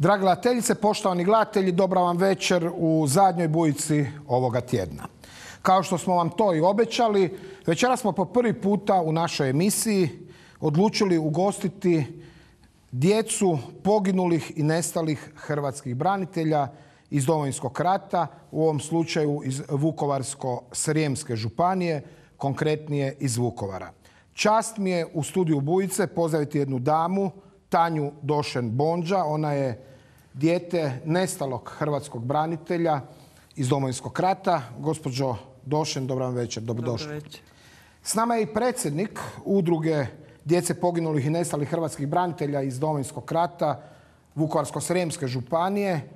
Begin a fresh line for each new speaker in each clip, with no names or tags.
Dragi gledateljice, poštovani gledatelji, dobra vam večer u zadnjoj bujici ovoga tjedna. Kao što smo vam to i obećali, večeras smo po prvi puta u našoj emisiji odlučili ugostiti djecu poginulih i nestalih hrvatskih branitelja iz Domovinskog rata, u ovom slučaju iz Vukovarsko-srijemske županije, konkretnije iz Vukovara. Čast mi je u studiju Bujice pozdraviti jednu damu, Tanju Došen-Bondža. Ona je dijete nestalog hrvatskog branitelja iz Domovinskog rata. Gospođo Došen, dobar vam večer, dobrodošli.
Dobro večer.
S nama je i predsjednik udruge djece poginulih i nestalih hrvatskih branitelja iz Domovinskog rata, Vukovarsko-srijemske županije,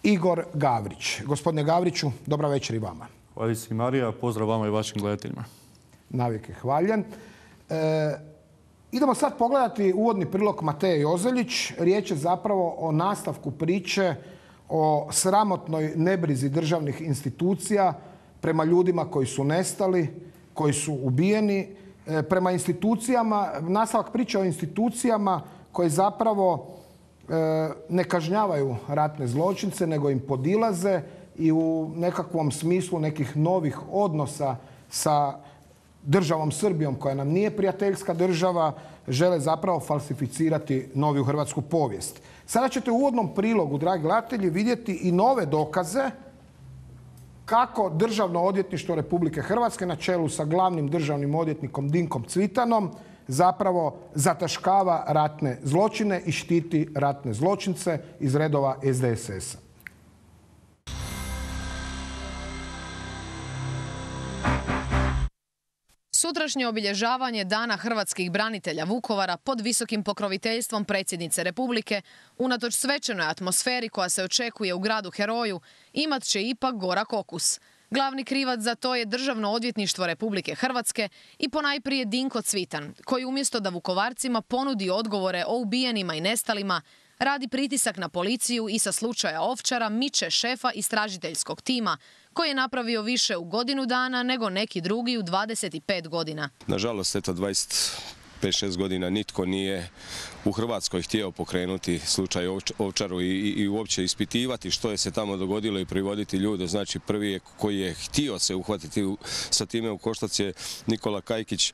Igor Gavrić. Gospodine Gavriću, dobra večer i vama.
Hvala si Marija, pozdrav vama i vašim gledateljima.
Navijek je hvaljen. Idemo sad pogledati uvodni prilog Mateje Jozeljić. Riječ je zapravo o nastavku priče o sramotnoj nebrizi državnih institucija prema ljudima koji su nestali, koji su ubijeni, prema institucijama, nastavak priče o institucijama koje zapravo ne kažnjavaju ratne zločince, nego im podilaze i u nekakvom smislu nekih novih odnosa sa državom Srbijom, koja nam nije prijateljska država, žele zapravo falsificirati noviju hrvatsku povijest. Sada ćete u uvodnom prilogu, dragi gledatelji, vidjeti i nove dokaze kako Državno odvjetništvo Republike Hrvatske na čelu sa glavnim državnim odvjetnikom Dinkom Cvitanom zapravo zataškava ratne zločine i štiti ratne zločince iz redova SDSS-a.
Sutrašnje obilježavanje Dana hrvatskih branitelja Vukovara pod visokim pokroviteljstvom predsjednice Republike, unatoč svečanoj atmosferi koja se očekuje u gradu heroju, imat će ipak gorak okus. Glavni krivac za to je Državno odvjetništvo Republike Hrvatske i ponajprije Dinko Cvitan, koji umjesto da Vukovarcima ponudi odgovore o ubijenima i nestalima, radi pritisak na policiju i sa slučaja Ovčara miče šefa istražiteljskog tima, koji je napravio više u godinu dana nego neki drugi u 25 godina.
Nažalost, eto 25-6 godina nitko nije u Hrvatskoj htio pokrenuti slučaj Ovčaru i uopće ispitivati što je se tamo dogodilo i privoditi ljude. Znači, prvi je koji je htio se uhvatiti sa time u koštac je Nikola Kajkić.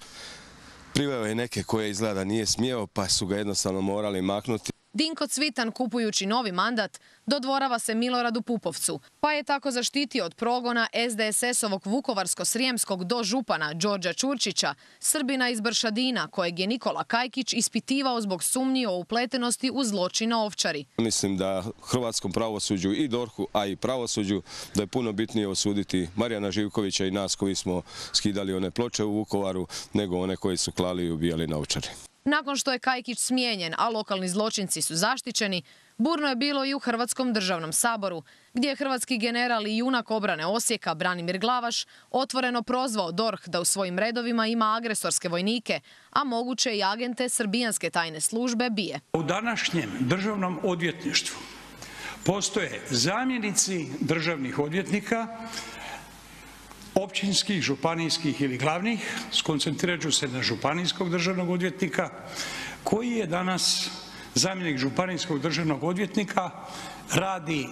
Priveo je neke koje izgleda nije smjeo, pa su ga jednostavno morali maknuti.
Dinko Cvitan, kupujući novi mandat, dodvorava se Miloradu Pupovcu, pa je tako zaštitio od progona SDSS-ovog Vukovarsko-srijemskog dožupana Đorđa Čurčića, Srbina iz Bršadina, kojeg je Nikola Kajkić ispitivao zbog sumnji o upletenosti u zločin na Ovčari.
Mislim da hrvatskom pravosuđu i DORH-u, a i pravosuđu, da je puno bitnije osuditi Marijana Živkovića i nas koji smo skidali one ploče u Vukovaru, nego one koji su klali i ubijali na Ovčari.
Nakon što je Kajkić smijenjen, a lokalni zločinci su zaštićeni, burno je bilo i u Hrvatskom državnom saboru, gdje je hrvatski general i junak obrane Osijeka Branimir Glavaš otvoreno prozvao DORH da u svojim redovima ima agresorske vojnike, a moguće i agente srbijanske tajne službe BIA.
U današnjem državnom odvjetništvu postoje zamjenici državnih odvjetnika, općinskih, županijskih ili glavnih, skoncentrirat ću se na županijskog državnog odvjetnika, koji je danas zamjenik županijskog državnog odvjetnika, radi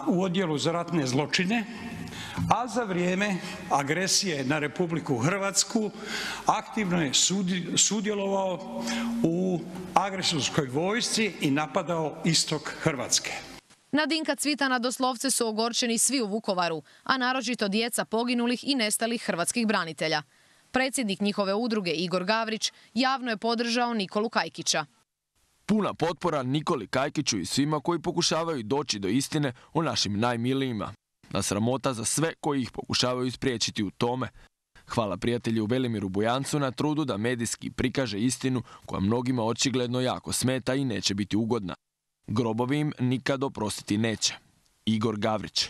u odjelu za ratne zločine, a za vrijeme agresije na Republiku Hrvatsku aktivno je sudjelovao u agresorskoj vojsci i napadao istok Hrvatske.
Na Dinka Cvitana doslovce su ogorčeni svi u Vukovaru, a naročito djeca poginulih i nestalih hrvatskih branitelja. Predsjednik njihove udruge Igor Gavrić javno je podržao Nikolu Kajkića.
Puna potpora Nikoli Kajkiću i svima koji pokušavaju doći do istine o našim najmilijima. Na sramota za sve koji ih pokušavaju spriječiti u tome. Hvala prijatelju Velimiru Bujancu na trudu da medijski prikaže istinu koja mnogima očigledno jako smeta i neće biti ugodna. Grobovi im nikad oprostiti neće. Igor Gavrić.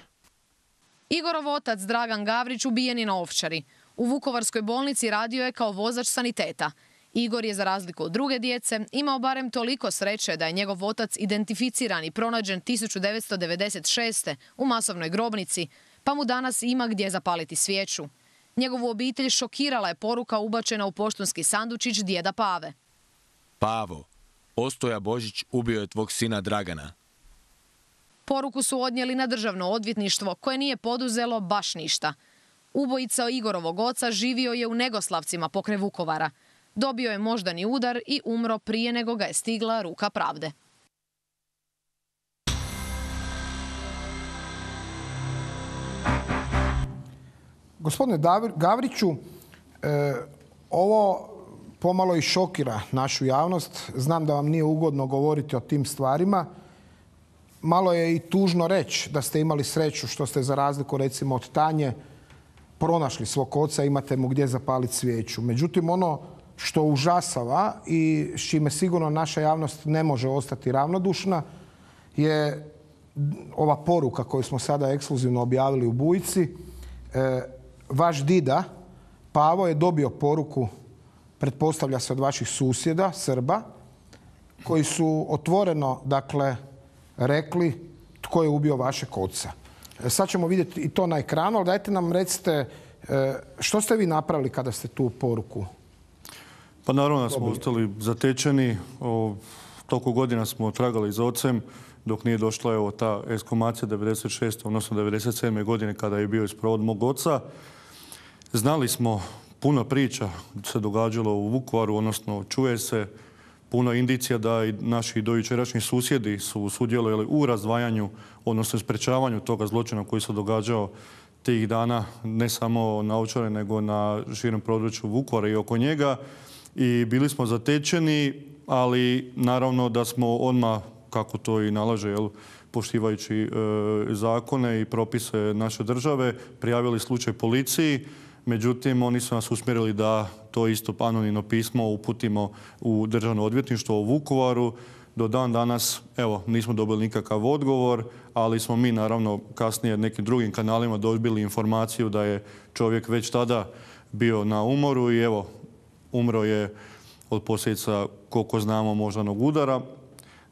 Igorov otac Dragan Gavrić ubijen je na Ovčari. U Vukovarskoj bolnici radio je kao vozač saniteta. Igor je, za razliku od druge djece, imao barem toliko sreće da je njegov otac identificiran i pronađen 1996. u masovnoj grobnici, pa mu danas ima gdje zapaliti svijeću. Njegovu obitelj šokirala je poruka ubačena u poštanski sandučić djeda Pave.
Pavo,
Ostoja Božić ubio je tvog sina Dragana.
Poruku su odnijeli na državno odvjetništvo koje nije poduzelo baš ništa. Ubojica Igorovog oca živio je u Negoslavcima pokraj Vukovara. Dobio je moždani udar i umro prije nego ga je stigla ruka pravde.
Gospodine Gavriću, ovo pomalo i šokira našu javnost. Znam da vam nije ugodno govoriti o tim stvarima. Malo je i tužno reći da ste imali sreću što ste za razliku recimo od Tanje pronašli svog oca, imate mu gdje zapaliti svijeću. Međutim, ono što užasava i s čime sigurno naša javnost ne može ostati ravnodušna je ova poruka koju smo sada ekskluzivno objavili u Bujici. Vaš dida Pavo je dobio poruku, pretpostavlja se od vaših susjeda, Srba, koji su otvoreno, dakle, rekli tko je ubio vašeg oca. Sad ćemo vidjeti i to na ekranu, ali dajte nam recite što ste vi napravili kada ste tu poruku?
Pa naravno da smo ostali zatečeni. Toliko godina smo tragali za ocem dok nije došla ta ekshumacija 96. odnosno 97. godine kada je bio isprovod mog oca. Znali smo, puno priča se događalo u Vukovaru, odnosno čuje se puno indicija da i naši dojučerašnji susjedi su sudjelovali u razdvajanju, odnosno sprečavanju toga zločina koji se događao tih dana, ne samo na Ovčari, nego na širem području Vukovara i oko njega. I bili smo zatečeni, ali naravno da smo odmah, kako to i nalaže, poštivajući zakone i propise naše države, prijavili slučaj policiji. Međutim, oni su nas usmjerili da to isto anonimno pismo uputimo u Državno odvjetništvo u Vukovaru. Do dan danas, nismo dobili nikakav odgovor, ali smo mi naravno kasnije nekim drugim kanalima dobili informaciju da je čovjek već tada bio na umoru i umro je od posljedica, koliko znamo, moždanog udara.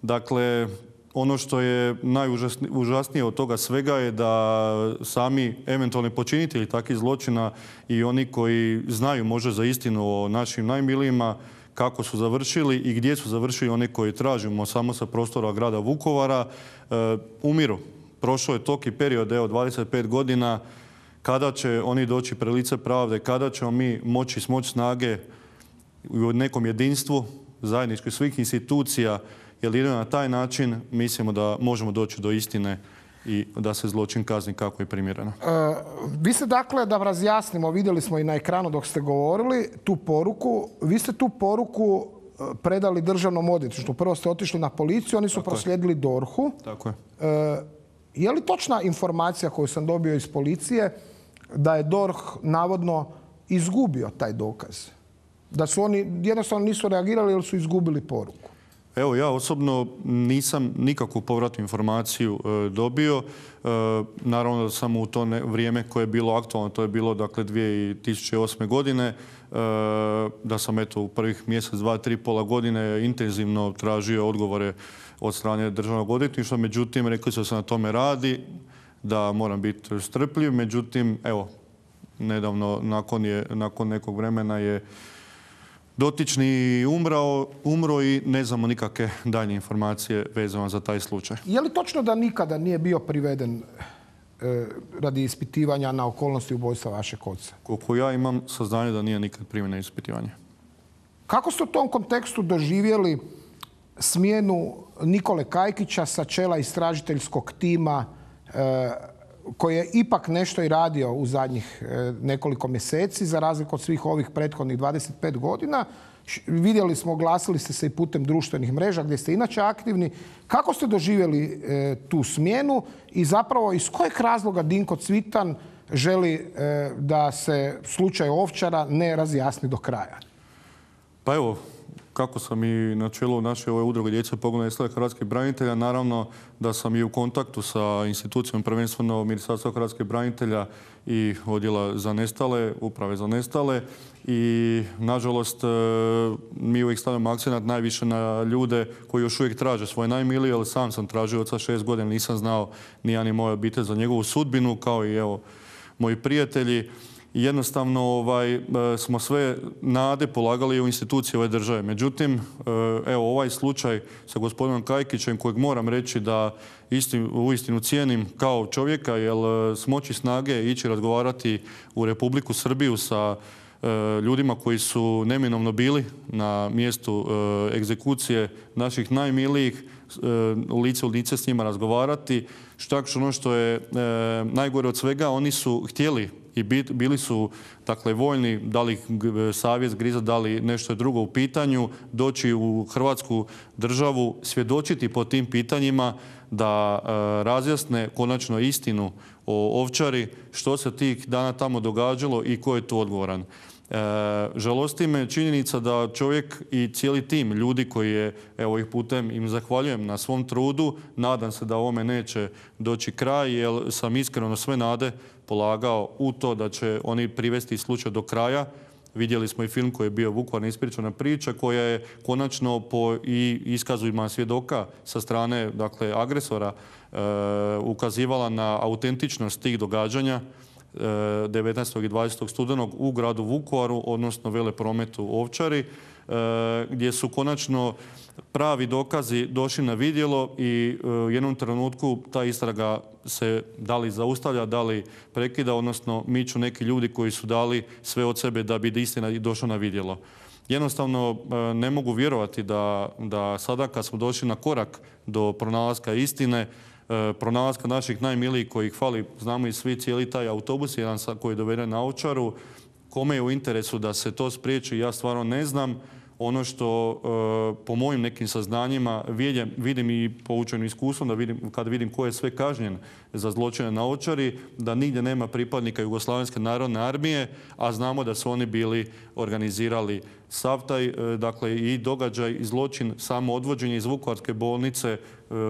Dakle, ono što je najužasnije od toga svega je da sami eventualni počinitelji takvih zločina i oni koji znaju možda za istinu o našim najmilijima, kako su završili i gdje su završili oni koji tražimo samo sa prostora grada Vukovara, umiru. Prošlo je toliki period, 25 godina, kada će oni doći pred lice pravde, kada ćemo mi moći smoći snage u nekom jedinstvu zajednički svih institucija, jer jedino na taj način mislimo da možemo doći do istine i da se zločin kazni kako je primjereno.
Vi ste, dakle, da razjasnimo, vidjeli smo i na ekranu dok ste govorili tu poruku. Vi ste tu poruku predali Državnom odvjetništvu. Prvo ste otišli na policiju, oni su proslijedili DORH-u.
Tako je.
Je li točna informacija koju sam dobio iz policije da je DORH navodno izgubio taj dokaz? Da su oni jednostavno nisu reagirali jer su izgubili poruku?
Evo, ja osobno nisam nikakvu povratnu informaciju dobio. Naravno da sam u to vrijeme koje je bilo aktualno, to je bilo dakle 2008. godine, da sam u prvih mjesec, 2, 3, pola godine intenzivno tražio odgovore od strane Državnog odvjetništva. Međutim, rekli su da se na tome radi, da moram biti strpljiv. Međutim, nedavno nakon nekog vremena je dotični umro i ne znamo nikakve daljnje informacije vezano za taj slučaj.
Je li točno da nikada nije bio priveden radi ispitivanja na okolnosti ubojstva vašeg oca?
Koliko ja imam saznanje da nije nikad priveden na ispitivanje.
Kako ste u tom kontekstu doživjeli smjenu Nikole Kajkića sa čela istražiteljskog tima koji je ipak nešto i radio u zadnjih nekoliko mjeseci, za razliku od svih ovih prethodnih 25 godina. Vidjeli smo, oglasili ste se i putem društvenih mreža gdje ste inače aktivni. Kako ste doživjeli tu smjenu i zapravo iz kojeg razloga Dinko Cvitan želi da se slučaj Ovčara ne razjasni do kraja?
Pa evo, kako sam i na čelu naše ove udruge Djece poginulih i nestalih hrvatskih branitelja, naravno da sam i u kontaktu sa institucijom, prvenstveno Ministarstva hrvatskih branitelja i odjela za nestale, uprave za nestale. I nažalost mi uvijek stavljamo akcenat najviše na ljude koji još uvijek traže svoje najmilije, ali sam sam tražio oca 6 godina, nisam znao ni ja ni moja obitelj za njegovu sudbinu, kao i moji prijatelji. i jednostavno smo sve nade polagali u institucije ove države. Međutim, evo ovaj slučaj sa gospodinom Kajkićem, kojeg moram reći da uistinu cijenim kao čovjeka, jer smoći snage ići razgovarati u Republiku Srbiju sa ljudima koji su neminovno bili na mjestu egzekucije naših najmilijih, lice u lice s njima razgovarati. Čak ono što je najgore od svega, oni su htjeli i bili su dakle voljni, da li savjest griza, da li nešto drugo u pitanju, doći u Hrvatsku državu, svjedočiti po tim pitanjima, da razjasne konačno istinu o Ovčari, što se tih dana tamo događalo i ko je tu odgovoran. Žalosti me činjenica da čovjek i cijeli tim ljudi koji je, evo ih putem im zahvaljujem na svom trudu, nadam se da ovome neće doći kraj, jer sam iskreno sve nade polagao u to da će oni privesti slučaj do kraja. Vidjeli smo i film koji je bio Vukovar neispričana priča, koja je konačno po i iskazima svjedoka sa strane dakle, agresora ukazivala na autentičnost tih događanja 19. i 20. studenog u gradu Vukovaru, odnosno veleprometu Ovčari, gdje su konačno pravi dokazi došli na vidjelo i u jednom trenutku ta istraga se da li zaustavlja, da li prekida, odnosno miču neki ljudi koji su dali sve od sebe da bi istina došla na vidjelo. Jednostavno ne mogu vjerovati da sada kad smo došli na korak do pronalaska istine, pronalaska naših najmilijih kojih fali, znamo i svi, cijeli taj autobus jedan koji je doveden na Ovčaru, kome je u interesu da se to spriječi, ja stvarno ne znam. Ono što po mojim nekim saznanjima vidim i poučenim iskustvom, kad vidim ko je sve kažnjen za zločine na Ovčari, da nigdje nema pripadnika Jugoslavenske narodne armije, a znamo da su oni bili organizirali sav taj, dakle, i događaj i zločin, samo odvođenje iz Vukovarske bolnice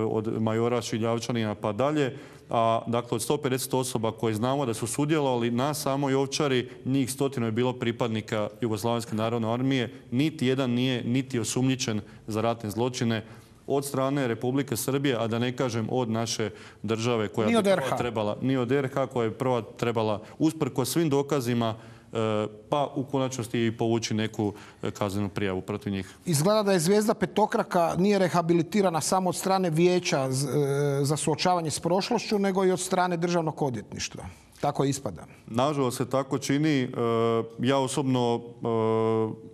od majora Šiljavčanina pa dalje. A dakle, od 150 osoba koje znamo da su sudjelovali na samoj Ovčari, njih 100 je bilo pripadnika Jugoslavenske narodne armije. Niti jedan nije niti osumnjičen za ratne zločine od strane Republike Srbije, a da ne kažem od naše države koja bi prva trebala, ni od RH koja je prva trebala usprkos svim dokazima pa u konačnosti i povući neku kaznenu prijavu protiv njih.
Izgleda da je zvijezda petokraka nije rehabilitirana samo od strane Vijeća za suočavanje s prošlošću, nego i od strane Državnog odvjetništva. Tako ispada.
Nažalost se tako čini. Ja osobno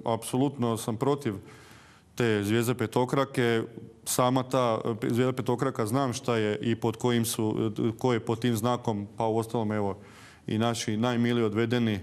apsolutno sam protiv te zvijezde petokrake. Sama ta zvijezda petokraka znam šta je i pod kojim su, ko je pod tim znakom, pa uostalom evo i naši najmiliji odvedeni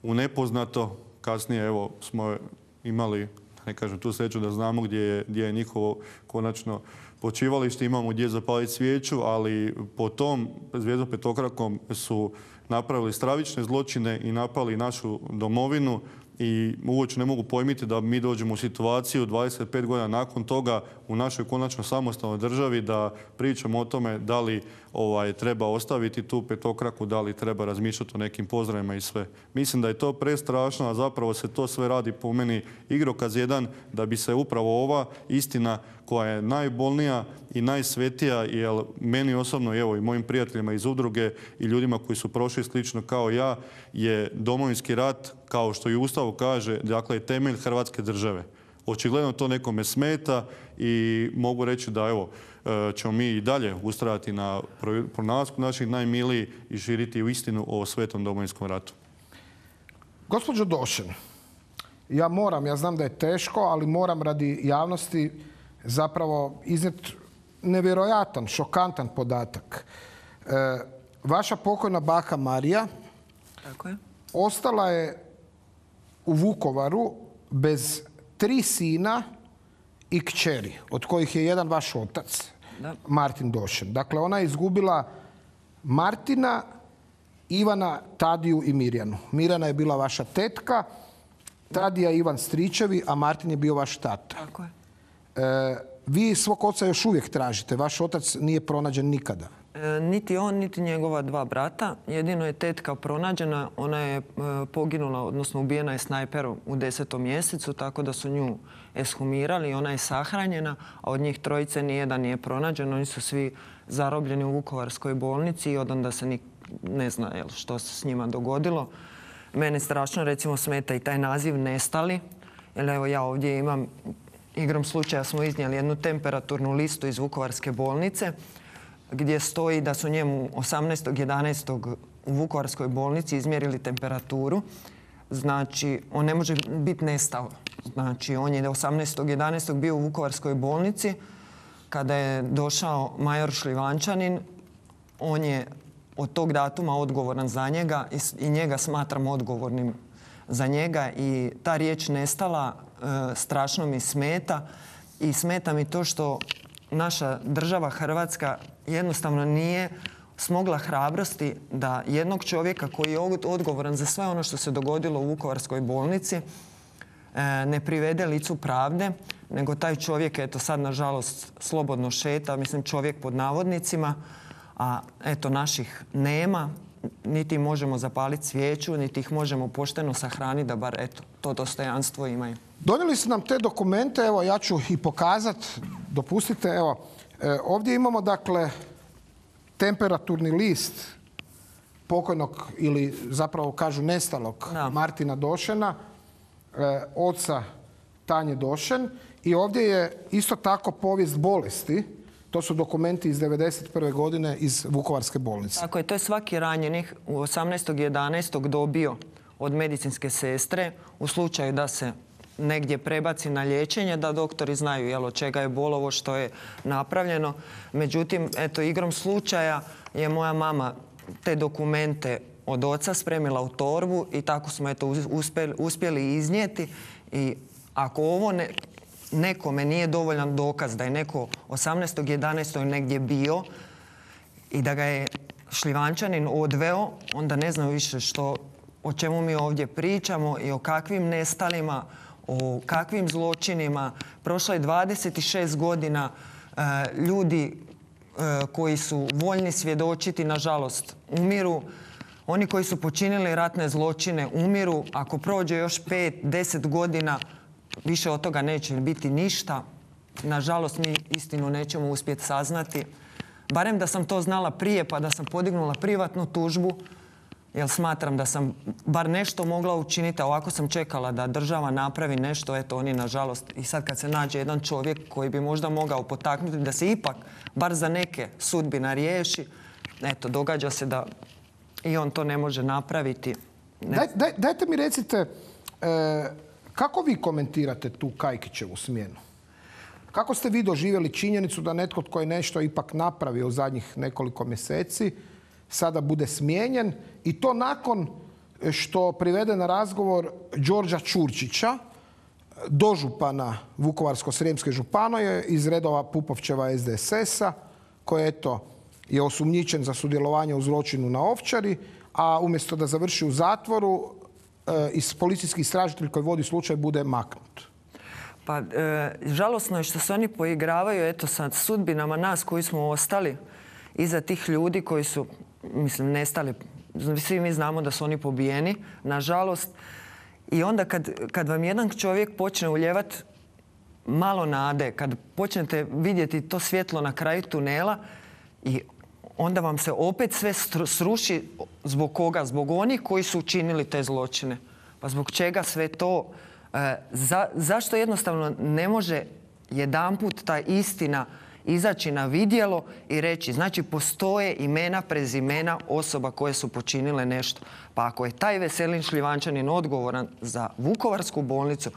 u nepoznato. Kasnije evo smo imali, ne kažem, tu sreću da znamo gdje je njihovo konačno počivalište, imamo gdje zapaliti svijeću, ali po tom zvijezdom petokrakom su napravili stravične zločine i napali našu domovinu i uopće ne mogu pojmiti da mi dođemo u situaciju 25 godina nakon toga u našoj konačno samostalnoj državi da pričamo o tome da li treba ostaviti tu petokraku, da li treba razmišljati o nekim pozdravima i sve. Mislim da je to prestrašno, a zapravo se to sve radi po meni igrokaz jedan da bi se upravo ova istina koja je najbolnija i najsvetija, jer meni osobno, evo i mojim prijateljima iz udruge i ljudima koji su prošli slično kao ja, je Domovinski rat, kao što i Ustav kaže, dakle temelj Hrvatske države. Očigledno to nekome smeta i mogu reći da evo, ćemo mi i dalje ustrajati na pronalasku naših najmilijih i širiti istinu o svetom Domovinskom ratu.
Gospođo Došen, ja znam da je teško, ali moram radi javnosti zapravo iznijeti nevjerojatan, šokantan podatak. Vaša pokojna baka Marija ostala je u Vukovaru bez 3 sina i kćeri, od kojih je jedan vaš otac, Martin Došen. Dakle, ona je izgubila Martina, Ivana, Tadiju i Mirjanu. Mirjana je bila vaša tetka, Tadija i Ivan stričevi, a Martin je bio vaš tata.
Tako je.
Vi svog oca još uvijek tražite. Vaš otac nije pronađen nikada.
Niti on, niti njegova 2 brata. Jedino je tetka pronađena. Ona je poginula, odnosno ubijena je snajperom u 10. mjesecu, tako da su nju ekshumirali i ona je sahranjena, a od njih 3 nijedan nije pronađen. Oni su svi zarobljeni u Vukovarskoj bolnici i od onda se ne zna što se s njima dogodilo. Mene strašno recimo smeta i taj naziv nestali. Jer evo ja ovdje imam, igrom slučaja smo iznijeli jednu temperaturnu listu iz Vukovarske bolnice gdje stoji da su njemu 18.11. u Vukovarskoj bolnici izmjerili temperaturu. Znači, on ne može biti nestao. Znači, on je 18.11. bio u Vukovarskoj bolnici. Kada je došao major Šljivančanin, on je od tog datuma odgovoran za njega i njega smatram odgovornim za njega. I ta riječ nestala strašno mi smeta. I smeta mi to što naša država Hrvatska jednostavno nije smogla hrabrosti da jednog čovjeka koji je odgovoran za sve ono što se dogodilo u Vukovarskoj bolnici ne privede licu pravde, nego taj čovjek, eto sad nažalost slobodno šeta, mislim čovjek pod navodnicima, a eto naših nema, niti možemo zapaliti svijeću, niti ih možemo pošteno sahraniti da bar eto to dostojanstvo imaju.
Donijeli su nam te dokumente, evo ja ću ih pokazati, dopustite, evo ovdje imamo dakle temperaturni list pokojnog ili zapravo kažu nestalog Martina Došena, oca Tanje Došen, i ovdje je isto tako povijest bolesti. To su dokumenti iz 1991. godine iz Vukovarske bolnice.
Tako je, to je svaki ranjenih u 18.11. dobio od medicinske sestre u slučaju da se negdje prebaci na liječenje, da doktori znaju od čega je bolovo, što je napravljeno. Međutim, eto, igrom slučaja je moja mama te dokumente od oca spremila u torbu i tako smo eto uspjeli iznijeti. I ako ovo nekome nije dovoljan dokaz da je neko 18.11. negdje bio i da ga je Šljivančanin odveo, onda ne znam više o čemu mi ovdje pričamo i o kakvim nestalima, o kakvim zločinima. Prošlo je 26 godina, ljudi koji su voljni svjedočiti, nažalost, umiru. Oni koji su počinili ratne zločine umiru. Ako prođe još 5-10 godina, više od toga neće biti ništa. Nažalost, mi istinu nećemo uspjeti saznati. Barem da sam to znala prije, pa da sam podignula privatnu tužbu, jer smatram da sam bar nešto mogla učiniti, a ovako sam čekala da država napravi nešto. Eto, oni, nažalost, i sad kad se nađe jedan čovjek koji bi možda mogao potaknuti da se ipak, bar za neke, sudbina riješi, eto, događa se da i on to ne može napraviti.
Dajte mi recite, kako vi komentirate tu Kajkićevu smjenu? Kako ste vi doživjeli činjenicu da netko tko je nešto ipak napravio u zadnjih nekoliko mjeseci sada bude smijenjen, i to nakon što privede na razgovor Đorđa Čurčića, dožupana Vukovarsko-srijemske županije iz redova Pupovčeva SDSS-a, koji je osumnjičen za sudjelovanje u zločinu na Ovčari, a umjesto da završi u zatvoru, policijski istražitelj koji vodi slučaj bude maknut.
Pa, žalosno je što se oni poigravaju sa sudbinama nas koji smo ostali iza tih ljudi koji su, mislim, nestali. Svi mi znamo da su oni pobijeni, nažalost. I onda kad vam jedan čovjek počne uljevati malo nade, kad počnete vidjeti to svjetlo na kraju tunela, i onda vam se opet sve sruši. Zbog koga? Zbog onih koji su učinili te zločine. Pa zbog čega sve to? Zašto jednostavno ne može jedanput ta istina izaći na vidjelo i reći, znači postoje imena, prezimena osoba koje su počinile nešto. Pa ako je taj Veselin Šljivančanin odgovoran za Vukovarsku bolnicu,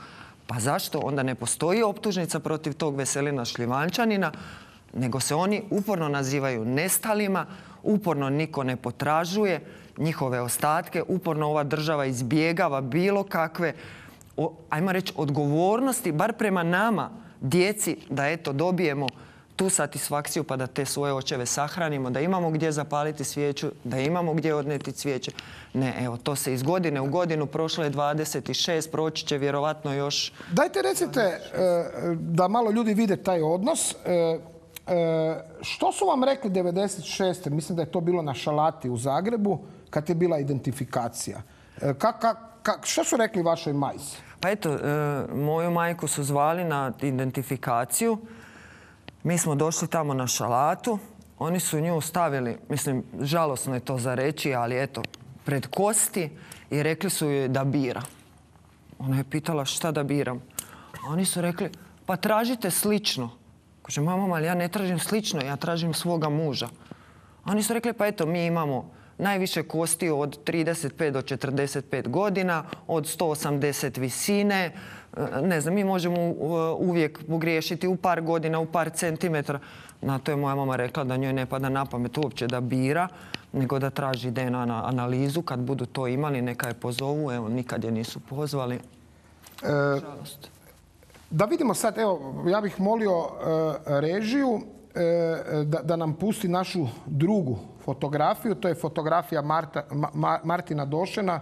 pa zašto onda ne postoji optužnica protiv tog Veselina Šljivančanina, nego se oni uporno nazivaju nestalima, uporno niko ne potražuje njihove ostatke, uporno ova država izbjegava bilo kakve, ajmo reći, odgovornosti, bar prema nama, djeci, da eto dobijemo tu satisfakciju pa da te svoje očeve sahranimo, da imamo gdje zapaliti svijeću, da imamo gdje odnijeti cvijeće. Ne, evo, to se iz godine u godinu, prošlo je 26, proći će vjerovatno još...
Dajte recite da malo ljudi vide taj odnos. Što su vam rekli 96. Mislim da je to bilo na Šalati u Zagrebu, kad je bila identifikacija. Što su rekli vašoj majci?
Pa eto, moju majku su zvali na identifikaciju. Mi smo došli tamo na Šalatu. Oni su nju stavili, mislim, žalosno je to za reći, ali eto, pred kosti i rekli su joj da bira. Ona je pitala šta da biram. A oni su rekli, pa tražite slično. Kaže, mama, ali ja ne tražim slično, ja tražim svoga muža. A oni su rekli, pa eto, mi imamo najviše kosti od 35 do 45 godina, od 180 visine. Ne znam, mi možemo uvijek pogriješiti u par godina, u par centimetara. Na to je moja mama rekla da njoj ne pada na pamet uopće da bira, nego da traži DNA analizu. Kad budu to imali, neka je pozovu. Evo, nikad je nisu pozvali. Žalost.
Da vidimo sad, evo, ja bih molio režiju da nam pusti našu drugu fotografiju. To je fotografija Martina Došena,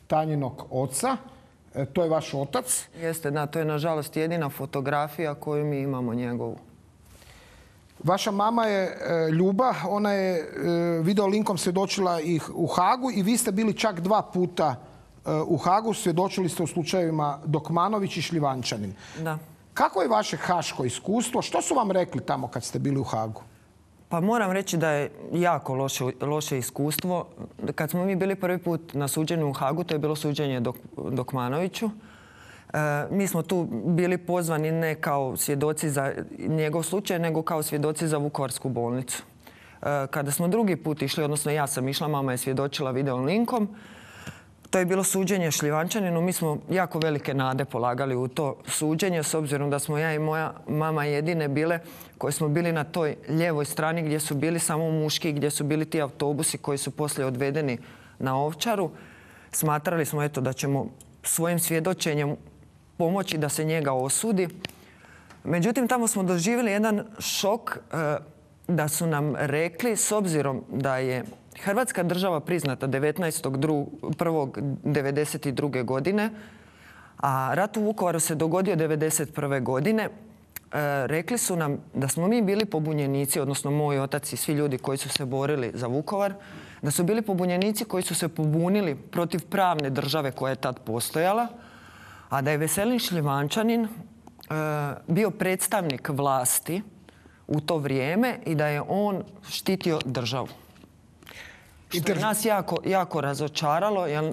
Tanjinog oca. To je vaš otac.
Jeste, da, to je nažalost jedina fotografija koju mi imamo njegovu.
Vaša mama je Ljuba, ona je video linkom svjedočila i u Hagu i vi ste bili čak 2 puta u Hagu, svjedočili ste u slučajevima Dokmanović i Šljivančanin.
Da.
Kako je vaše haško iskustvo? Što su vam rekli tamo kad ste bili u Hagu?
Pa moram reći da je jako loše iskustvo. Kad smo mi bili prvi put na suđenju u Hagu, to je bilo suđenje Dokmanoviću. Mi smo tu bili pozvani ne kao svjedoci za njegov slučaj, nego kao svjedoci za Vukovarsku bolnicu. Kada smo drugi put išli, odnosno ja sam išla, mama je svjedočila video linkom. To je bilo suđenje Šljivančaninu. Mi smo jako velike nade polagali u to suđenje, s obzirom da smo ja i moja mama jedine bile koji smo bili na toj lijevoj strani gdje su bili samo muški, gdje su bili ti autobusi koji su poslije odvedeni na Ovčaru. Smatrali smo eto da ćemo svojim svjedočenjem pomoći da se njega osudi. Međutim, tamo smo doživjeli jedan šok da su nam rekli, s obzirom da je Hrvatska država priznata 19.1.1992. godine, a rat u Vukovaru se dogodio 1991. godine, rekli su nam da smo mi bili pobunjenici, odnosno moj otac i svi ljudi koji su se borili za Vukovar, da su bili pobunjenici koji su se pobunili protiv pravne države koja je tad postojala, a da je Veselin Šljivančanin bio predstavnik vlasti u to vrijeme i da je on štitio državu. Što je nas jako razočaralo, jer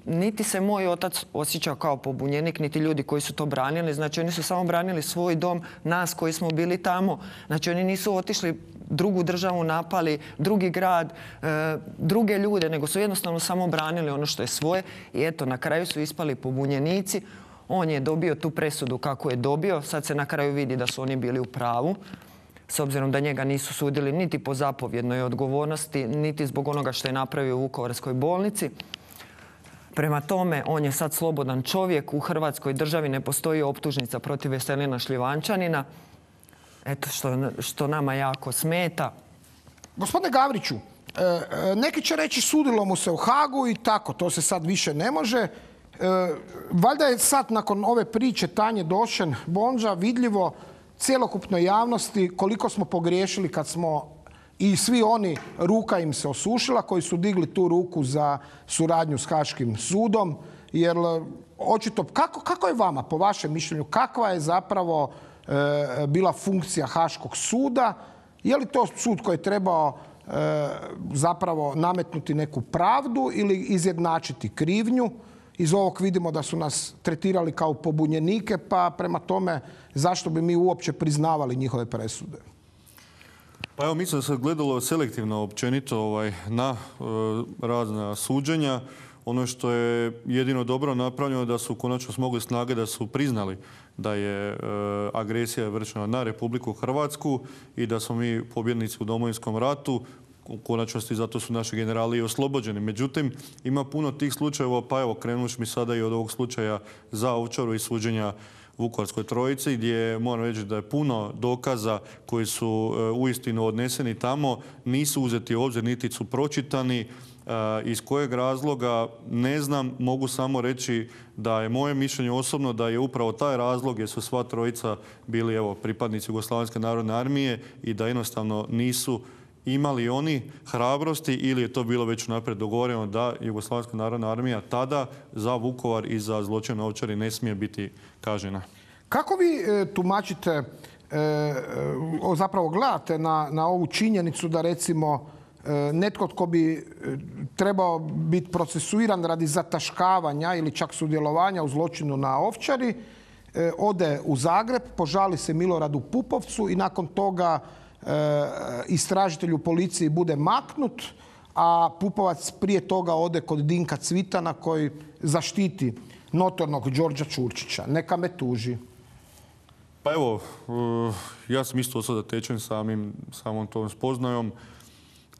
niti se moj otac osjećao kao pobunjenik, niti ljudi koji su to branili. Znači, oni su samo branili svoj dom, nas koji smo bili tamo. Znači, oni nisu otišli drugu državu, napali drugi grad, druge ljude, nego su jednostavno samo branili ono što je svoje. I eto, na kraju su ispali pobunjenici. On je dobio tu presudu kako je dobio. Sad se na kraju vidi da su oni bili u pravu. S obzirom da njega nisu sudili niti po zapovjednoj odgovornosti, niti zbog onoga što je napravio u Vukovarskoj bolnici. Prema tome, on je sad slobodan čovjek. U Hrvatskoj državi ne postoji optužnica protiv Veselina Šljivančanina. Eto što nama jako smeta.
Gospodine Gavriću, neki će reći sudilo mu se u Hagu i tako, to se sad više ne može. Valjda je sad nakon ove priče Tanje Došen Bondža vidljivo cjelokupnoj javnosti koliko smo pogriješili kad smo i svi oni, ruka im se osušila koji su digli tu ruku za suradnju s Haškim sudom. Jer očito, kako je vama, po vašem mišljenju, kakva je zapravo bila funkcija Haškog suda? Je li to sud koji je trebao zapravo nametnuti neku pravdu ili izjednačiti krivnju? Iz ovog vidimo da su nas tretirali kao pobunjenike, pa prema tome zašto bi mi uopće priznavali njihove presude?
Pa evo, mislim da se gledalo selektivno općenito na razna suđenja. Ono što je jedino dobro napravljeno da su konačno smogli snage da su priznali da je agresija vršena na Republiku Hrvatsku i da smo mi pobjednici u Domovinskom ratu. U konačnosti zato su naši generali i oslobođeni. Međutim, ima puno tih slučajeva, pa evo, krenuš mi sada i od ovog slučaja za Ovčaru i suđenja Vukovarskoj trojici, gdje moram reći da je puno dokaza koji su uistinu odneseni tamo, nisu uzeti u obzir, niti su pročitani. Iz kojeg razloga, ne znam, mogu samo reći da je moje mišljenje osobno da je upravo taj razlog jer su sva trojica bili pripadnici Jugoslavenske narodne armije i da jednostavno nisu imali oni hrabrosti ili je to bilo već naprijed dogovoreno da Jugoslavenska narodna armija tada za Vukovar i za zločin na Ovčari ne smije biti kažnjena.
Kako vi tumačite, zapravo gledate na ovu činjenicu da recimo netko tko bi trebao biti procesuiran radi zataškavanja ili čak sudjelovanja u zločinu na Ovčari, ode u Zagreb, požali se Miloradu Pupovcu i nakon toga istražitelj u policiji bude maknut, a Pupovac prije toga ode kod Dinka Cvitana koji zaštiti notornog Đorđa Čurčića. Neka me tuži.
Pa evo, ja sam isto ostao zatečen samom tom spoznajom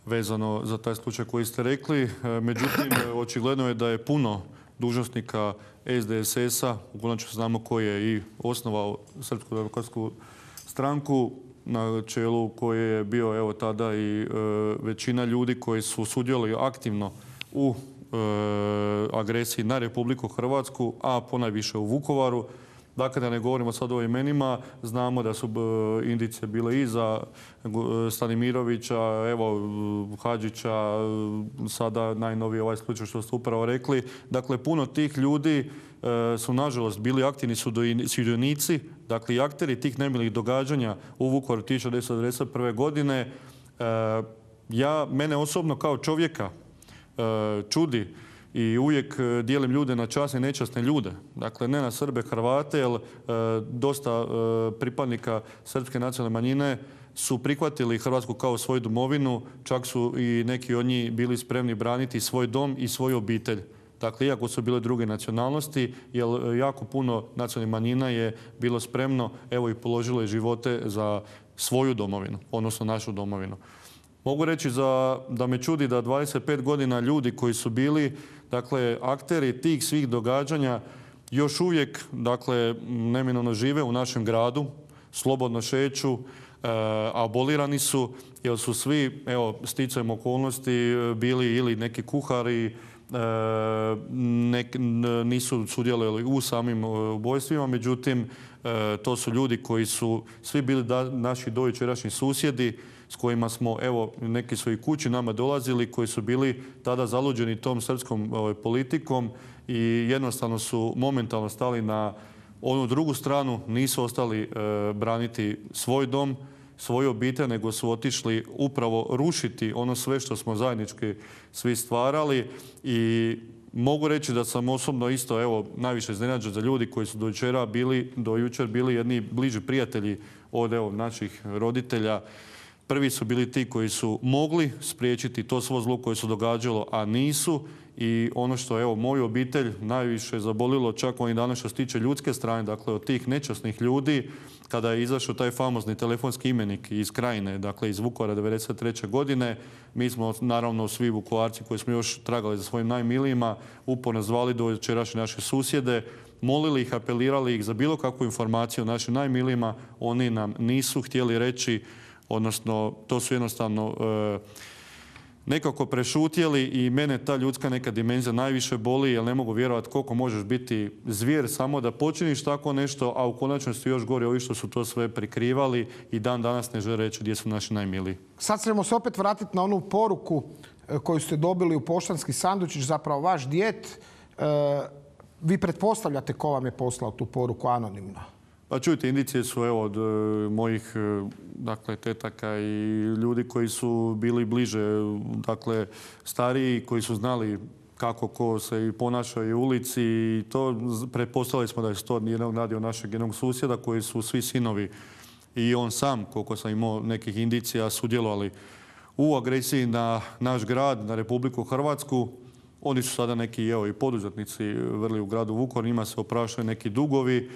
vezano za taj slučaj koji ste rekli. Međutim, očigledno je da je puno dužnosnika SDSS-a, u konačnici znamo ko je i osnovao Srpsku demokratsku stranku, na čelu koje je bio evo tada i većina ljudi koji su sudjelovali aktivno u agresiji na Republiku Hrvatsku, a ponajviše u Vukovaru. Dakle, da ne govorimo sad o imenima, znamo da su indicije bile i za Stanimirovića, evo, Hadžića, sada najnoviji ovaj slučaj što ste upravo rekli. Dakle, puno tih ljudi su nažalost bili aktivni sudionici, dakle i akteri tih nemilih događanja u Vukovaru 1991. godine. Mene osobno kao čovjeka čudi i uvijek dijelim ljude na časne i nečasne ljude. Dakle, ne na Srbe, Hrvate, jer dosta pripadnika srpske nacionalne manjine su prihvatili Hrvatsku kao svoju domovinu, čak su i neki od njih bili spremni braniti svoj dom i svoju obitelj. Dakle, iako su bile druge nacionalnosti, jer jako puno nacionalnih manjina je bilo spremno, evo i položilo je živote za svoju domovinu, odnosno našu domovinu. Mogu reći da me čudi da 25 godina ljudi koji su bili, dakle, akteri tih svih događanja još uvijek, dakle, neminovno žive u našem gradu, slobodno šeću, abolirani su, jer su svi, evo, sticajem okolnosti bili ili neki kuhari, nisu sudjelovali u samim ubojstvima, međutim, to su ljudi koji su svi bili naši dojučerašnji susjedi, s kojima smo, evo, neki su i kući nama dolazili, koji su bili tada zaluđeni tom srpskom politikom i jednostavno su momentalno stali na onu drugu stranu, nisu ostali braniti svoj dom, svoju obitelj, nego su otišli upravo rušiti ono sve što smo zajednički svi stvarali. I mogu reći da sam osobno isto, evo, najviše iznenađen za ljudi koji su do jučer bili jedni bliži prijatelji od, evo, naših roditelja. Prvi su bili ti koji su mogli spriječiti to svo zlo koje se događalo, a nisu. I ono što, evo, moju obitelj najviše zabolilo, čak ovih dana što se tiče ljudske strane, dakle od tih nečasnih ljudi, kada je izašao taj famozni telefonski imenik iz Krajine, dakle iz Vukovara 1993. godine, mi smo, naravno, svi Vukovarci koji smo još tragali za svojim najmilijima, uporno zvali do jučerašnje naše susjede, molili ih, apelirali ih za bilo kakvu informaciju o našim najmilijima. Oni nam nisu htjeli reći, odnosno to su jednostavno nekako prešutjeli i mene ta ljudska neka dimenzija najviše boli, jer ne mogu vjerovati koliko možeš biti zvijer samo da počiniš tako nešto, a u konačnosti još gore ovi što su to sve prikrivali i dan danas ne žele reći gdje su naši najmiliji.
Sad ćemo se opet vratiti na onu poruku koju ste dobili u poštanski sandučić, zapravo vaš djed. Vi pretpostavljate ko vam je poslao tu poruku anonimno?
Pa čujte, indicije su, evo, od mojih, dakle, tetaka i ljudi koji su bili bliže, dakle, stariji, koji su znali kako ko se i ponaša i u ulici i to pretpostavili smo da je to radio našeg jednog susjeda koji su svi sinovi i on sam, koliko sam imao nekih indicija, sudjelovali u agresiji na naš grad, na Republiku Hrvatsku. Oni su sada neki, evo, i poduzetnici vrli u gradu Vukovar, njima se opraštaju neki dugovi.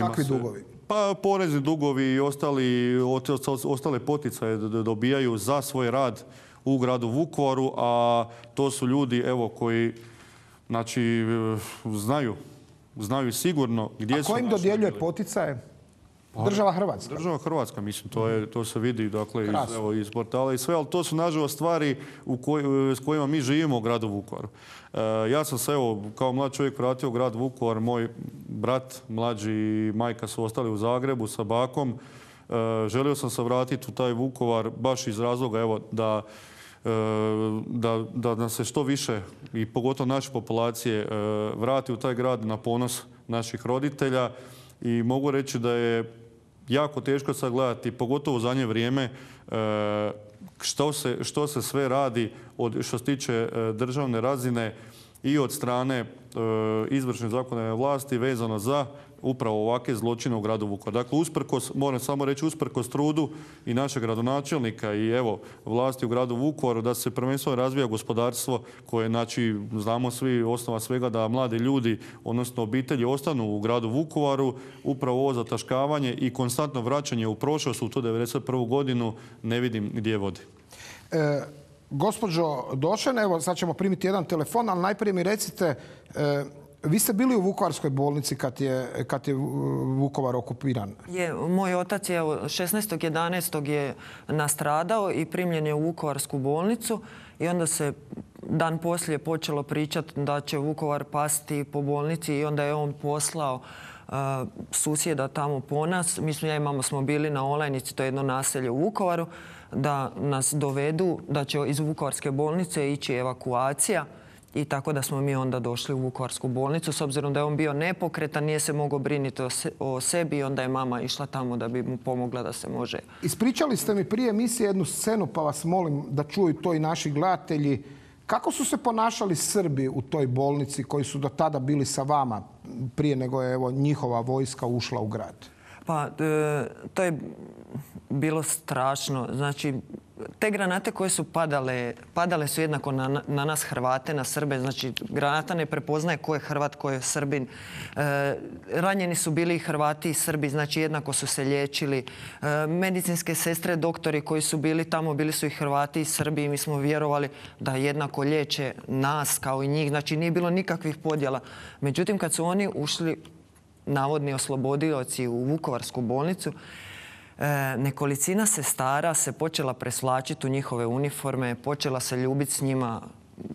Kakvi dugovi?
Pa porezni dugovi i ostale poticaje dobijaju za svoj rad u gradu Vukovaru, a to su ljudi, evo, koji, znači, znaju sigurno gdje su.
A ko im dodjeljuje poticaje? Država Hrvatska?
Država Hrvatska, mislim, to se vidi, dakle, iz portala i sve, ali to su, nažalost, stvari s kojima mi živimo u gradu Vukovaru. Ja sam se, evo, kao mlad čovjek vratio u grad Vukovar, moj brat, mlađi i majka su ostali u Zagrebu sa bakom. Želio sam se vratiti u taj Vukovar baš iz razloga, evo, da nas se što više i pogotovo naše populacije vrati u taj grad na ponos naših roditelja. I mogu reći da je jako teško sad gledati, pogotovo u zadnje vrijeme, što se sve radi što se tiče državne razine i od strane izvršne zakonodavne vlasti vezano za upravo ovakve zločine u gradu Vukovaru. Dakle, moram samo reći, usprkos trudu i našeg gradonačelnika i evo vlasti u gradu Vukovaru da se prvenstveno razvija gospodarstvo koje, znači, znamo svi, osnova svega da mladi ljudi, odnosno obitelji, ostanu u gradu Vukovaru, upravo ovo zataškavanje i konstantno vraćanje u prošlost u tu 1991. godinu ne vidim gdje vodi.
Gospođo Došen, evo sad ćemo primiti jedan telefon, ali najprije mi recite, vi ste bili u Vukovarskoj bolnici kad je Vukovar okupiran?
Moj otac je 16.11. je nastradao i primljen je u Vukovarsku bolnicu i onda se dan poslije počelo pričati da će Vukovar pasti po bolnici i onda je on poslao susjeda tamo po nas. Mislim, ja i mama smo bili na Olajnici, to je jedno naselje u Vukovaru, da nas dovedu, da će iz Vukovarske bolnice ići evakuacija i tako da smo mi onda došli u Vukovarsku bolnicu. S obzirom da je on bio nepokretan, nije se mogao brinuti o sebi i onda je mama išla tamo da bi mu pomogla da se može.
Ispričali ste mi prije emisije jednu scenu, pa vas molim da čuju to i naši gledatelji. Kako su se ponašali Srbi u toj bolnici koji su do tada bili sa vama prije nego je njihova vojska ušla u grad?
Pa, to je bilo strašno. Znači, te granate koje su padale su jednako na nas Hrvate, na Srbe. Znači, granata ne prepoznaje ko je Hrvat, ko je Srbin. Ranjeni su bili i Hrvati i Srbi, znači jednako su se liječili. Medicinske sestre, doktori koji su bili tamo, bili su i Hrvati i Srbi i mi smo vjerovali da jednako liječe nas kao i njih. Znači, nije bilo nikakvih podjela. Međutim, kad su oni ušli, navodni oslobodioci, u Vukovarsku bolnicu, nekolicina sestara se počela presvlačiti u njihove uniforme, počela se ljubiti s njima,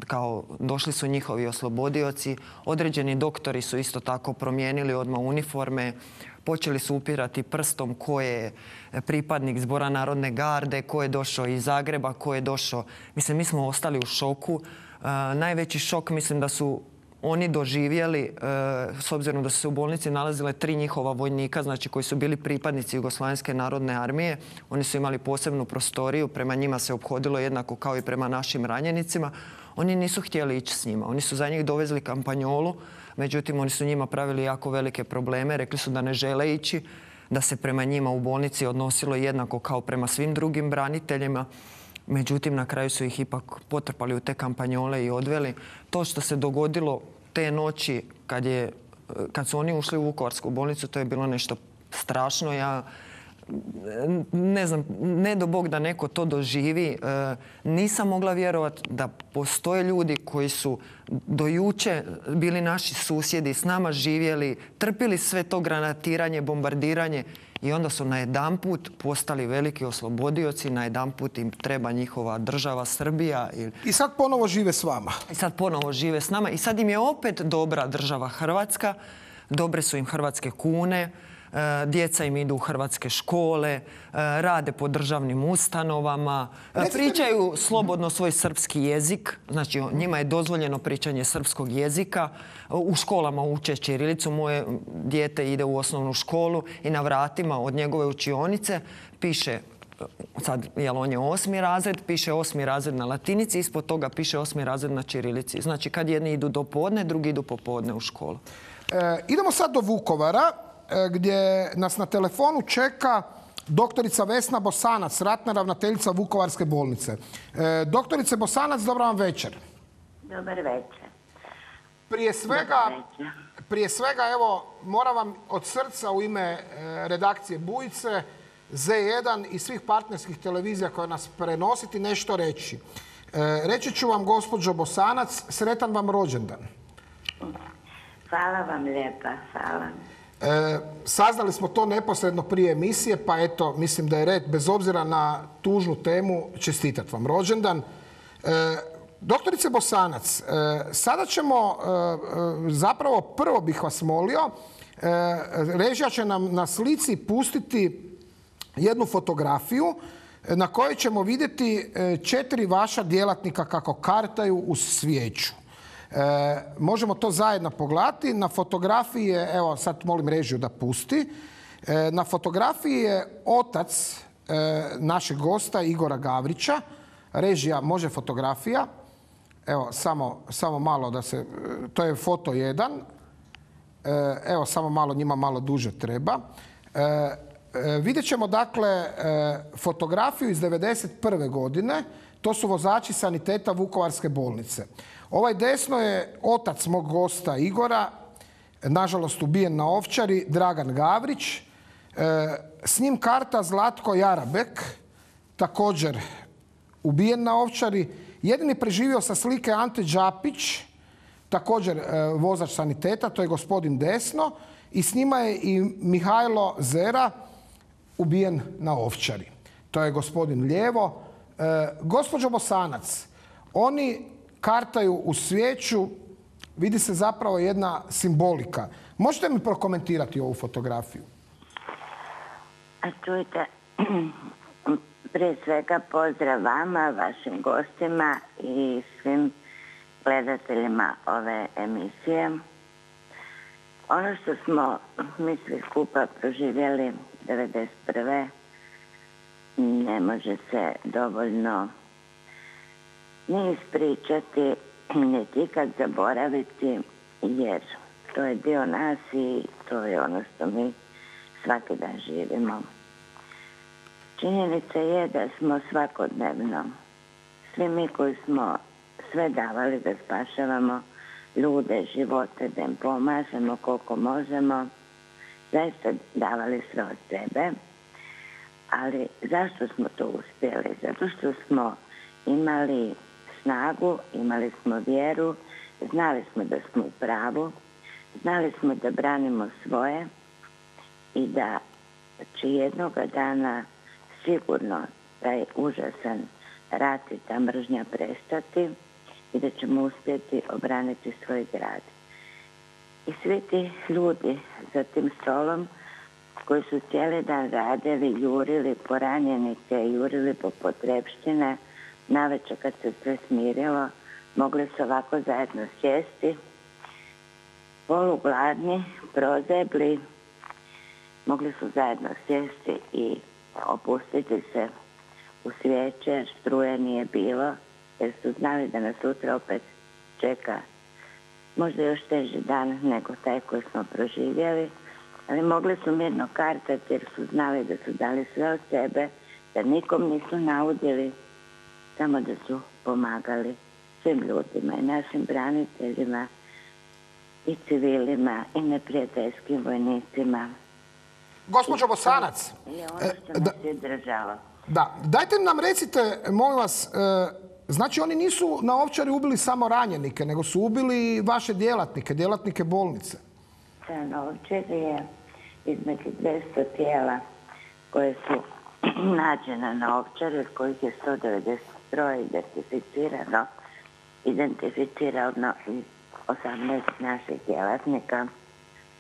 kao došli su njihovi oslobodioci. Određeni doktori su isto tako promijenili odmah uniforme, počeli su upirati prstom ko je pripadnik Zbora narodne garde, ko je došao iz Zagreba, ko je došao. Mislim, mi smo ostali u šoku. Najveći šok mislim da su oni doživjeli, s obzirom da su se u bolnici nalazile 3 njihova vojnika, znači koji su bili pripadnici Jugoslavenske narodne armije. Oni su imali posebnu prostoriju, prema njima se ophodilo jednako kao i prema našim ranjenicima. Oni nisu htjeli ići s njima. Oni su za njih dovezli kampanjolu, međutim oni su njima pravili jako velike probleme. Rekli su da ne žele ići, da se prema njima u bolnici odnosilo jednako kao prema svim drugim braniteljima. Međutim, na kraju su ih ipak potrpali u te kampanjole i odveli. To što se dogodilo te noći kad su oni ušli u Vukovarsku bolnicu, to je bilo nešto strašno. Ja ne znam, ne do Bog da neko to doživi. Nisam mogla vjerovati da postoje ljudi koji su do juče bili naši susjedi, s nama živjeli, trpili sve to granatiranje, bombardiranje i onda su najedanput postali veliki oslobodioci, najedanput im treba njihova država Srbija.
I sad ponovo žive s vama.
I sad ponovo žive s nama i sad im je opet dobra država Hrvatska, dobre su im hrvatske kune, djeca im idu u hrvatske škole, rade po državnim ustanovama, pričaju slobodno svoj srpski jezik, znači njima je dozvoljeno pričanje srpskog jezika, u školama uče ćirilicu, moje dijete ide u osnovnu školu i na vratima od njegove učionice piše, sad on je 8. razred, piše 8. razred na latinici, ispod toga piše 8. razred na ćirilici. Znači kad jedni idu do podne, drugi idu popodne u školu.
Idemo sad do Vukovara, gdje nas na telefonu čeka doktorica Vesna Bosanac, ratna ravnateljica Vukovarske bolnice. Doktorice Bosanac, dobar vam večer.
Dobar večer.
Prije svega, evo, moram vam od srca u ime redakcije Bujice, Z1 i svih partnerskih televizija koje nas prenositi nešto reći. Reći ću vam, gospođo Bosanac, sretan vam rođendan.
Hvala vam lijepa, hvala.
Saznali smo to neposredno prije emisije, pa eto, mislim da je red, bez obzira na tužnu temu, čestitat vam rođendan. Doktorice Bosanac, sada ćemo, zapravo prvo bih vas molio, režija će nam na slici pustiti jednu fotografiju na kojoj ćemo vidjeti 4 vaša djelatnika kako kartaju uz svijeću. Možemo to zajedno pogledati. Na fotografiji je, evo sad molim režiju da pusti, na fotografiji je otac našeg gosta Igora Gavrića. Režija može fotografija. Evo, samo malo da se... To je foto 1. Evo, samo malo, njima malo duže treba. Vidjet ćemo, dakle, fotografiju iz 1991. godine. To su vozači saniteta Vukovarske bolnice. Ovaj desno je otac mog gosta Igora, nažalost ubijen na Ovčari, Dragan Gavrić. S njim karta Zlatko Jarabek, također ubijen na Ovčari. Jedini preživio sa slike Ante Đapić, također vozač saniteta, to je gospodin desno. I s njima je i Mihajlo Zera, ubijen na Ovčari. To je gospodin lijevo. Gospođo Bosanac, oni kartaju u svijeću, vidi se zapravo jedna simbolika. Možete mi prokomentirati ovu fotografiju?
A čujte, prije svega pozdrav vama, vašim gostima i svim gledateljima ove emisije. Ono što smo mi svi skupa proživjeli 1991. ne može se dovoljno ni ispričati, niti ikad zaboraviti, jer to je dio nas i to je ono što mi svaki dan živimo. Činjenica je da smo svakodnevno, svi mi koji smo sve davali da spašavamo ljude, živote, da im pomažemo koliko možemo, zaista davali sve od sebe. Ali zašto smo to uspjeli? Zato što smo imali snagu, imali smo vjeru, znali smo da smo u pravu, znali smo da branimo svoje i da će jednoga dana sigurno taj užasan rat i ta mržnja prestati i da ćemo uspjeti obraniti svoj grad. I svi ti ljudi za tim stolom koji su cijeli dan radili, jurili po ranjenike, jurili po potrepštine, navečer kad se sve smirilo, mogli su ovako zajedno sjesti, polugladni, prozebli, mogli su zajedno sjesti i opustiti se u svijeće, jer struje nije bilo, jer su znali da nas sutra opet čeka možda još teži dan nego taj koji smo proživjeli, ali mogli su mirno kartati jer su znali da su dali sve od sebe, da nikom nisu naudili, samo da su pomagali svim ljudima i našim braniteljima i civilima i neprijateljskim vojnicima.
Gospođo Bosanac.
I ono što nas je držalo.
Da, dajte nam recite, molim vas, znači oni nisu na Ovčari ubili samo ranjenike, nego su ubili vaše djelatnike bolnice.
Da, na Ovčari je između 200 tijela koje su nađena na Ovčari, od kojih je 193 identificirano i 18 naših djelatnika.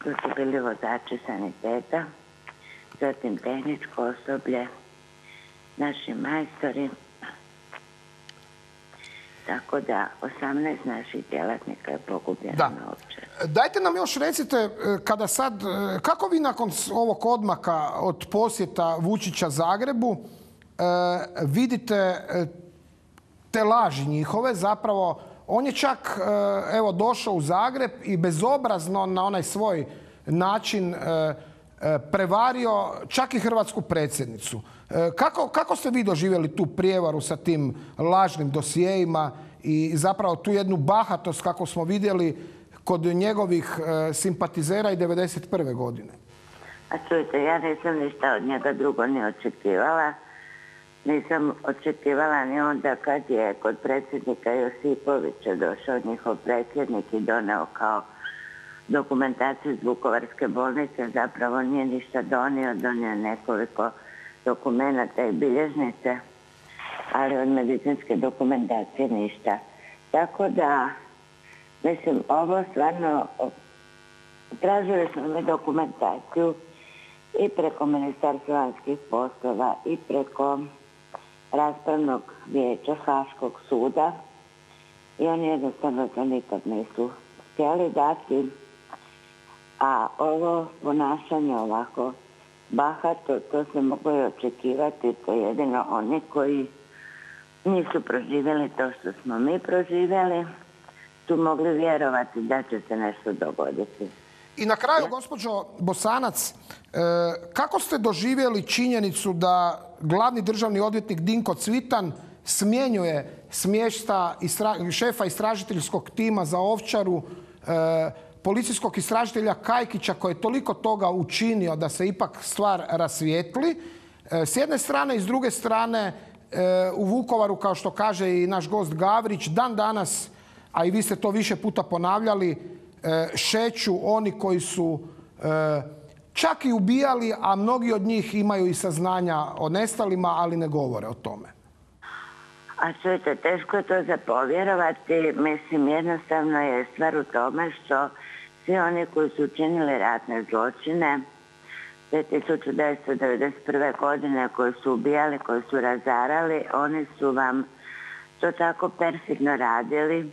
Tu su bili vozači saniteta, zatim tehničko osoblje, naši majstori. Tako da 18 naših djelatnika je pogubljeno na Ovčari.
Dajte nam još recite, kada sad, kako vi nakon ovog odmaka od posjeta Vučića Zagrebu vidite te laži njihove? Zapravo, on je čak evo došao u Zagreb i bezobrazno na onaj svoj način prevario čak i hrvatsku predsjednicu. Kako ste vi doživjeli tu prijevaru sa tim lažnim dosijejima i zapravo tu jednu bahatost kako smo vidjeli kod njegovih simpatizera i 1991. godine?
A čujte, ja nisam ništa od njega drugo ni očekivala. Nisam očekivala ni onda kad je kod predsjednika Josipovića došao njihov predsjednik i doneo kao dokumentaciju iz Vukovarske bolnice. Zapravo nije ništa donio nekoliko dokumenata i bilježnice, ali od medicinske dokumentacije ništa. Tako da, mislim, ovo stvarno, tražili smo mi dokumentaciju i preko Ministarstva vanjskih poslova i preko raspravnog vijeća Haškog suda i oni jednostavno to nikad nisu htjeli dati. A ovo ponašanje ovako bahato, to se moglo i očekivati. To je jedino oni koji nisu proživjeli to što smo mi proživjeli, su mogli vjerovati da će se nešto dogoditi.
I na kraju, gospođo Bosanac, kako ste doživjeli činjenicu da glavni državni odvjetnik Dinko Cvitan smjenjuje smješta šefa istražiteljskog tima za Ovčaru, policijskog istražitelja Kajkića koji je toliko toga učinio da se ipak stvar rasvijetli? S jedne strane i s druge strane u Vukovaru, kao što kaže i naš gost Gavrić, dan danas, a i vi ste to više puta ponavljali, šeću oni koji su čak i ubijali, a mnogi od njih imaju i saznanja o nestalima, ali ne govore o tome.
A čujte, teško je to za povjerovati. Mislim, jednostavno je stvar u tome što svi oni koji su učinili ratne zločine 1991. godine, koji su ubijali, koji su razarali, oni su vam to tako perfidno radili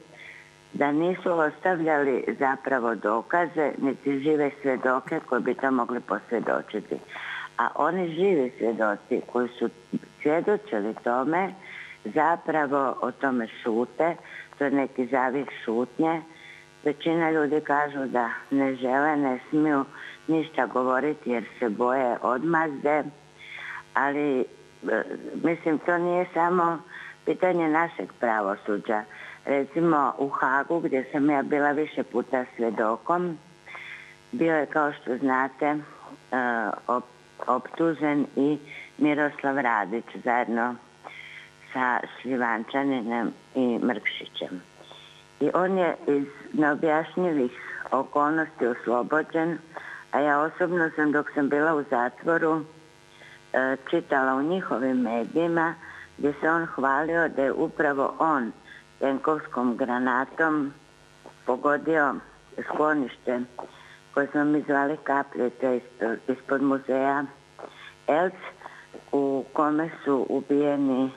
da nisu ostavljali zapravo dokaze, niti žive svjedoke koji bi to mogli posvjedočiti. A oni živi svjedoci koji su svjedočili tome, zapravo o tome šute, to je neki zavih šutnje. Većina ljudi kažu da ne žele, ne smiju ništa govoriti jer se boje odmazde, ali mislim to nije samo pitanje našeg pravosuđa. Recimo u Hagu gdje sam ja bila više puta svjedokom, bio je kao što znate optužen i Miroslav Radić zajedno sa Šljivančaninom i Mrkšićem. I on je iz neobjašnjivih okolnosti oslobođen, a ja osobno sam dok sam bila u zatvoru čitala u njihovim medijima gdje se on hvalio da je upravo on tenkovskom granatom pogodio sklonište koje smo mi zvali Kapljice ispod muzeja Elc, u kome su ubijeni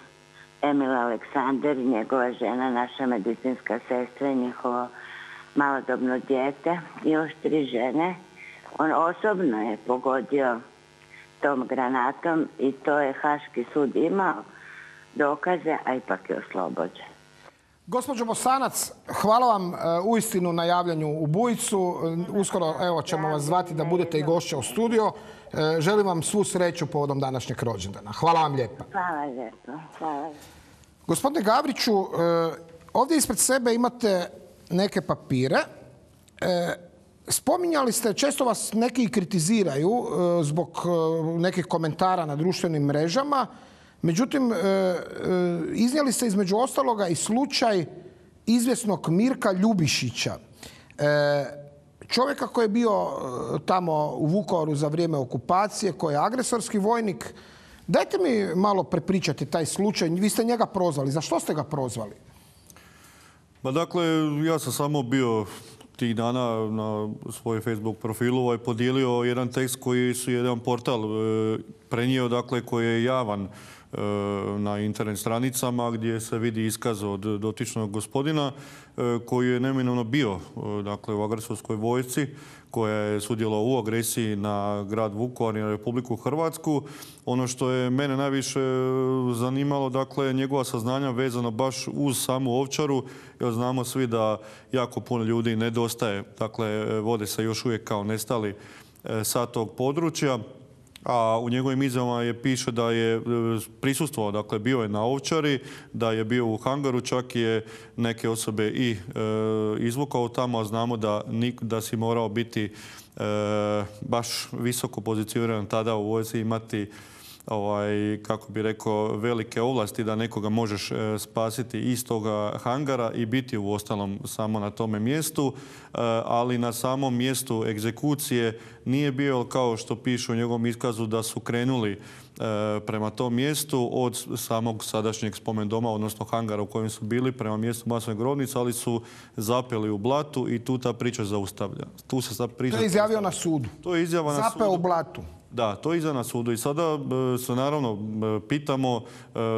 Emil Aleksander i njegova žena, naša medicinska sestra i njihovo malodobno dijete i još 3 žene. On osobno je pogodio tom granatom i to je Haški sud imao dokaze, a ipak je oslobođen.
Gospođo Bosanac, hvala vam uistinu na javljanju u Bujicu. Uskoro evo ćemo vas zvati da budete i gošća u studio. Želim vam svu sreću povodom današnjeg rođendana. Hvala vam lijepa.
Hvala lijepo. Hvala.
Gospodine Gavriću, ovdje ispred sebe imate neke papire. Spominjali ste, često vas neki kritiziraju zbog nekih komentara na društvenim mrežama. Međutim, iznijeli ste između ostaloga i slučaj izvjesnog Mirka Ljubišića. Čovjeka koji je bio tamo u Vukovaru za vrijeme okupacije, koji je agresorski vojnik. Dajte mi malo prepričati taj slučaj. Vi ste njega prozvali. Za što ste ga prozvali?
Pa dakle, ja sam samo bio tih dana na svoj Facebook profilu podijelio jedan tekst koji su jedan portal prenio, dakle, koji je javan na internet stranicama gdje se vidi iskaz od dotičnog gospodina koji je neminovno bio, dakle, u agresorskoj vojsci koja je sudjelovala u agresiji na grad Vukovar i na Republiku Hrvatsku. Ono što je mene najviše zanimalo, dakle, njegova saznanja vezano baš uz samu Ovčaru, jer znamo svi da jako puno ljudi nedostaje, dakle, vode se još uvijek kao nestali sa tog područja. A u njegovim izjavama piše da je prisustvovao, dakle bio je na Ovčari, da je bio u hangaru, čak je neke osobe i izvukao tamo, a znamo da si morao biti baš visoko pozicioniran tada u vojsci, imati kako bi rekao, velike ovlasti da nekoga možeš spasiti iz toga hangara i biti u ostalom samo na tome mjestu, ali na samom mjestu egzekucije nije bio, kao što piše u njegovom iskazu, da su krenuli prema tom mjestu od samog sadašnjeg spomendoma, odnosno hangara u kojem su bili, prema mjestu masovne grobnice, ali su zapeli u blatu i tu ta priča zaustavlja.
To je izjavio na sudu.
To je izjava na sudu.
Zapeo u blatu.
Da, to iza na sudu i sada se naravno pitamo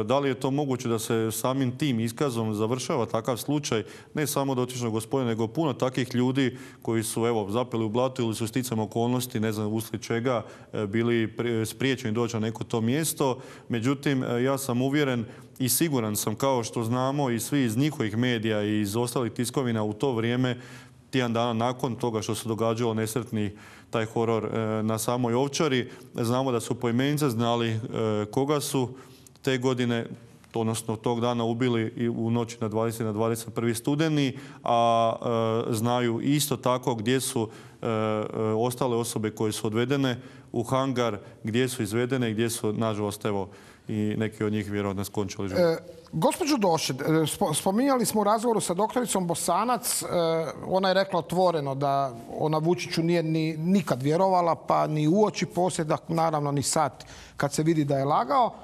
da li je to moguće da se samim tim iskazom završava takav slučaj, ne samo dotičnog gospodina, nego puno takvih ljudi koji su zapeli u blatu ili su sticajem okolnosti, ne znam uslijed čega, bili spriječeni doći na neko to mjesto. Međutim, ja sam uvjeren i siguran sam, kao što znamo i svi iz njihovih medija i iz ostalih tiskovina u to vrijeme, tjedan dana nakon toga što se događalo nesretni taj horor na samoj Ovčari, znamo da su poimence znali koga su te godine, odnosno tog dana ubili i u noći na 20. na 21. studeni, a znaju isto tako gdje su ostale osobe koje su odvedene u hangar, gdje su izvedene i gdje su, nažalost, i neki od njih vjerojatno skončali život.
Gospođo Došet, spominjali smo u razgovoru sa doktoricom Bosanac, ona je rekla otvoreno da ona Vučiću nije nikad vjerovala, pa ni uoči poslije, naravno ni sad kad se vidi da je lagao.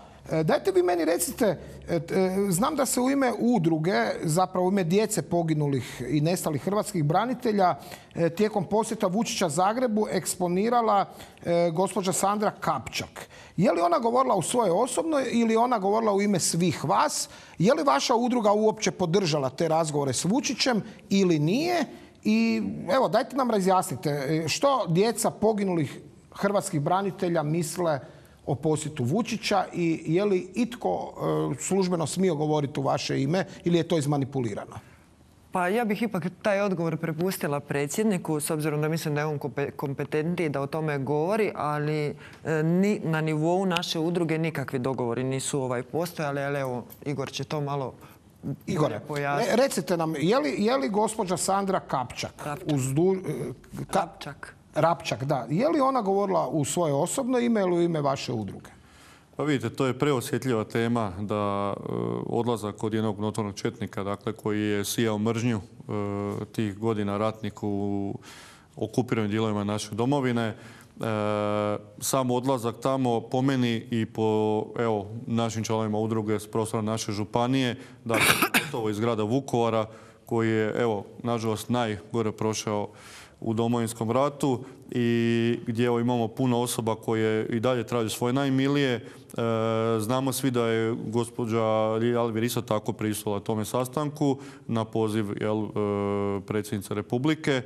Dajte vi meni recite, znam da se u ime udruge, zapravo u ime djece poginulih i nestalih hrvatskih branitelja, tijekom posjeta Vučića Zagrebu eksponirala gospođa Sandra Kapčak. Je li ona govorila u svoje osobno ili ona govorila u ime svih vas? Je li vaša udruga uopće podržala te razgovore s Vučićem ili nije? I evo, dajte nam razjasnite što djeca poginulih hrvatskih branitelja misle o posjetu Vučića i je li itko službeno smio govoriti u vaše ime ili je to izmanipulirano?
Pa ja bih ipak taj odgovor prepustila predsjedniku, s obzirom da mislim da je on kompetentniji da o tome govori, ali ni na nivou naše udruge nikakvi dogovori nisu postojali, ali evo, Igor će to malo bolje pojasniti.
Recite nam, je li gospođa Sandra Kapčak? Rapčak, da. Je li ona govorila u svoje osobno ime ili u ime vaše udruge?
Pa vidite, to je preosjetljiva tema da odlazak od jednog notornog četnika, dakle, koji je sijao mržnju tih godina ratnih u okupiranim dijelovima naše domovine. Sam odlazak tamo po meni i po našim članovima udruge s prostora naše županije, dakle, gotovo iz grada Vukovara, koji je, nažalost, najgore prošao u Domovinskom ratu i gdje imamo puno osoba koje i dalje traže svoje najmilije. Znamo svi da je gospođa Alvir isto tako prisustvovala tome sastanku na poziv predsjednice Republike,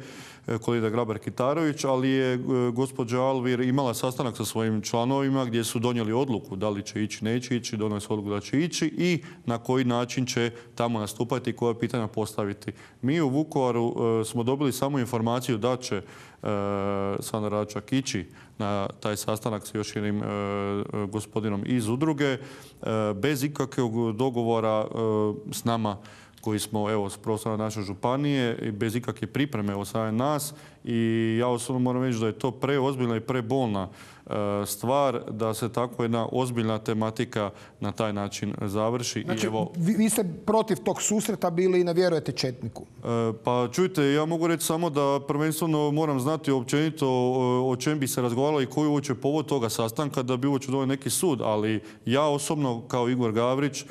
Kolinda Grabar-Kitarović, ali je gospođa Alvir imala sastanak sa svojim članovima gdje su donijeli odluku da li će ići, neće ići, donijeli su odluku da će ići i na koji način će tamo nastupati i koja pitanja postaviti. Mi u Vukovaru smo dobili samo informaciju da će Sandra Račak ići na taj sastanak sa još jednim gospodinom iz udruge bez ikakvog dogovora s nama koji smo s prostora naše županije i bez ikakve pripreme od strane nas. I ja osobno moram reći da je to preozbiljna i prebolna stvar da se tako jedna ozbiljna tematika na taj način završi.
Znači, vi ste protiv tog susreta bili i ne vjerujete četniku?
Pa čujte, ja mogu reći samo da prvenstveno moram znati općenito o čem bi se razgovaralo i koji uopće povod toga sastanka da bi uopće donio neki sud. Ali ja osobno kao Igor Gavrić,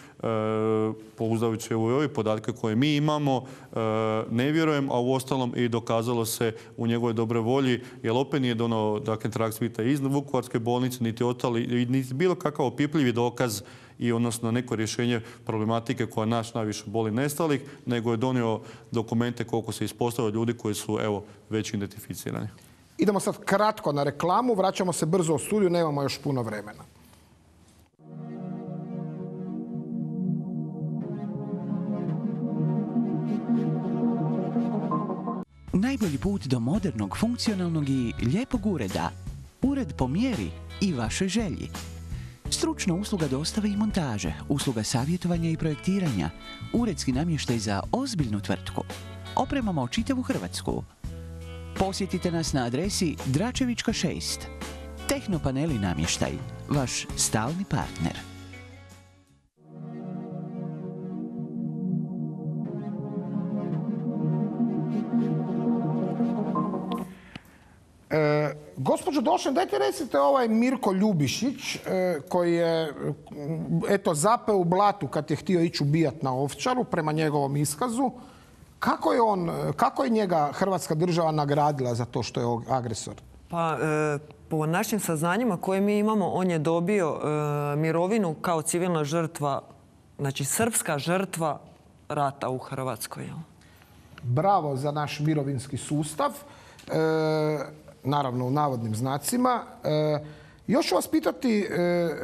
pouzdajući u ove podatke koje mi imamo, ne vjerujem, a uostalom i dokazalo se u njegovoj dobroj volji, jer opet nije donio trag svita iz Vukovarske bolnice, niti bilo kakav opipljivi dokaz i odnosno neko rješenje problematike koja naš najviše boli nestalih, nego je donio dokumente koliko se ispostavilo ljudi koji su već identificirani.
Idemo sad kratko na reklamu, vraćamo se brzo u studiju, nemamo još puno vremena.
Najbolji put do modernog, funkcionalnog i lijepog ureda. Ured po mjeri i vašoj želji. Stručna usluga dostave i montaže, usluga savjetovanja i projektiranja, uredski namještaj za ozbiljnu tvrtku. Opremamo čitavu Hrvatsku. Posjetite nas na adresi Dračevička 6. Tehnopaneli namještaj, vaš stalni partner.
Gospođo Došen, dajte recite ovaj Mirko Ljubišić koji je zapeo u blatu kad je htio ići ubijati na Ovčaru prema njegovom iskazu. Kako je njega Hrvatska država nagradila za to što je agresor?
Pa po našim saznanjima koje mi imamo, on je dobio mirovinu kao civilna žrtva, znači srpska žrtva rata u Hrvatskoj.
Bravo za naš mirovinski sustav, naravno u navodnim znacima. Još ću vas pitati,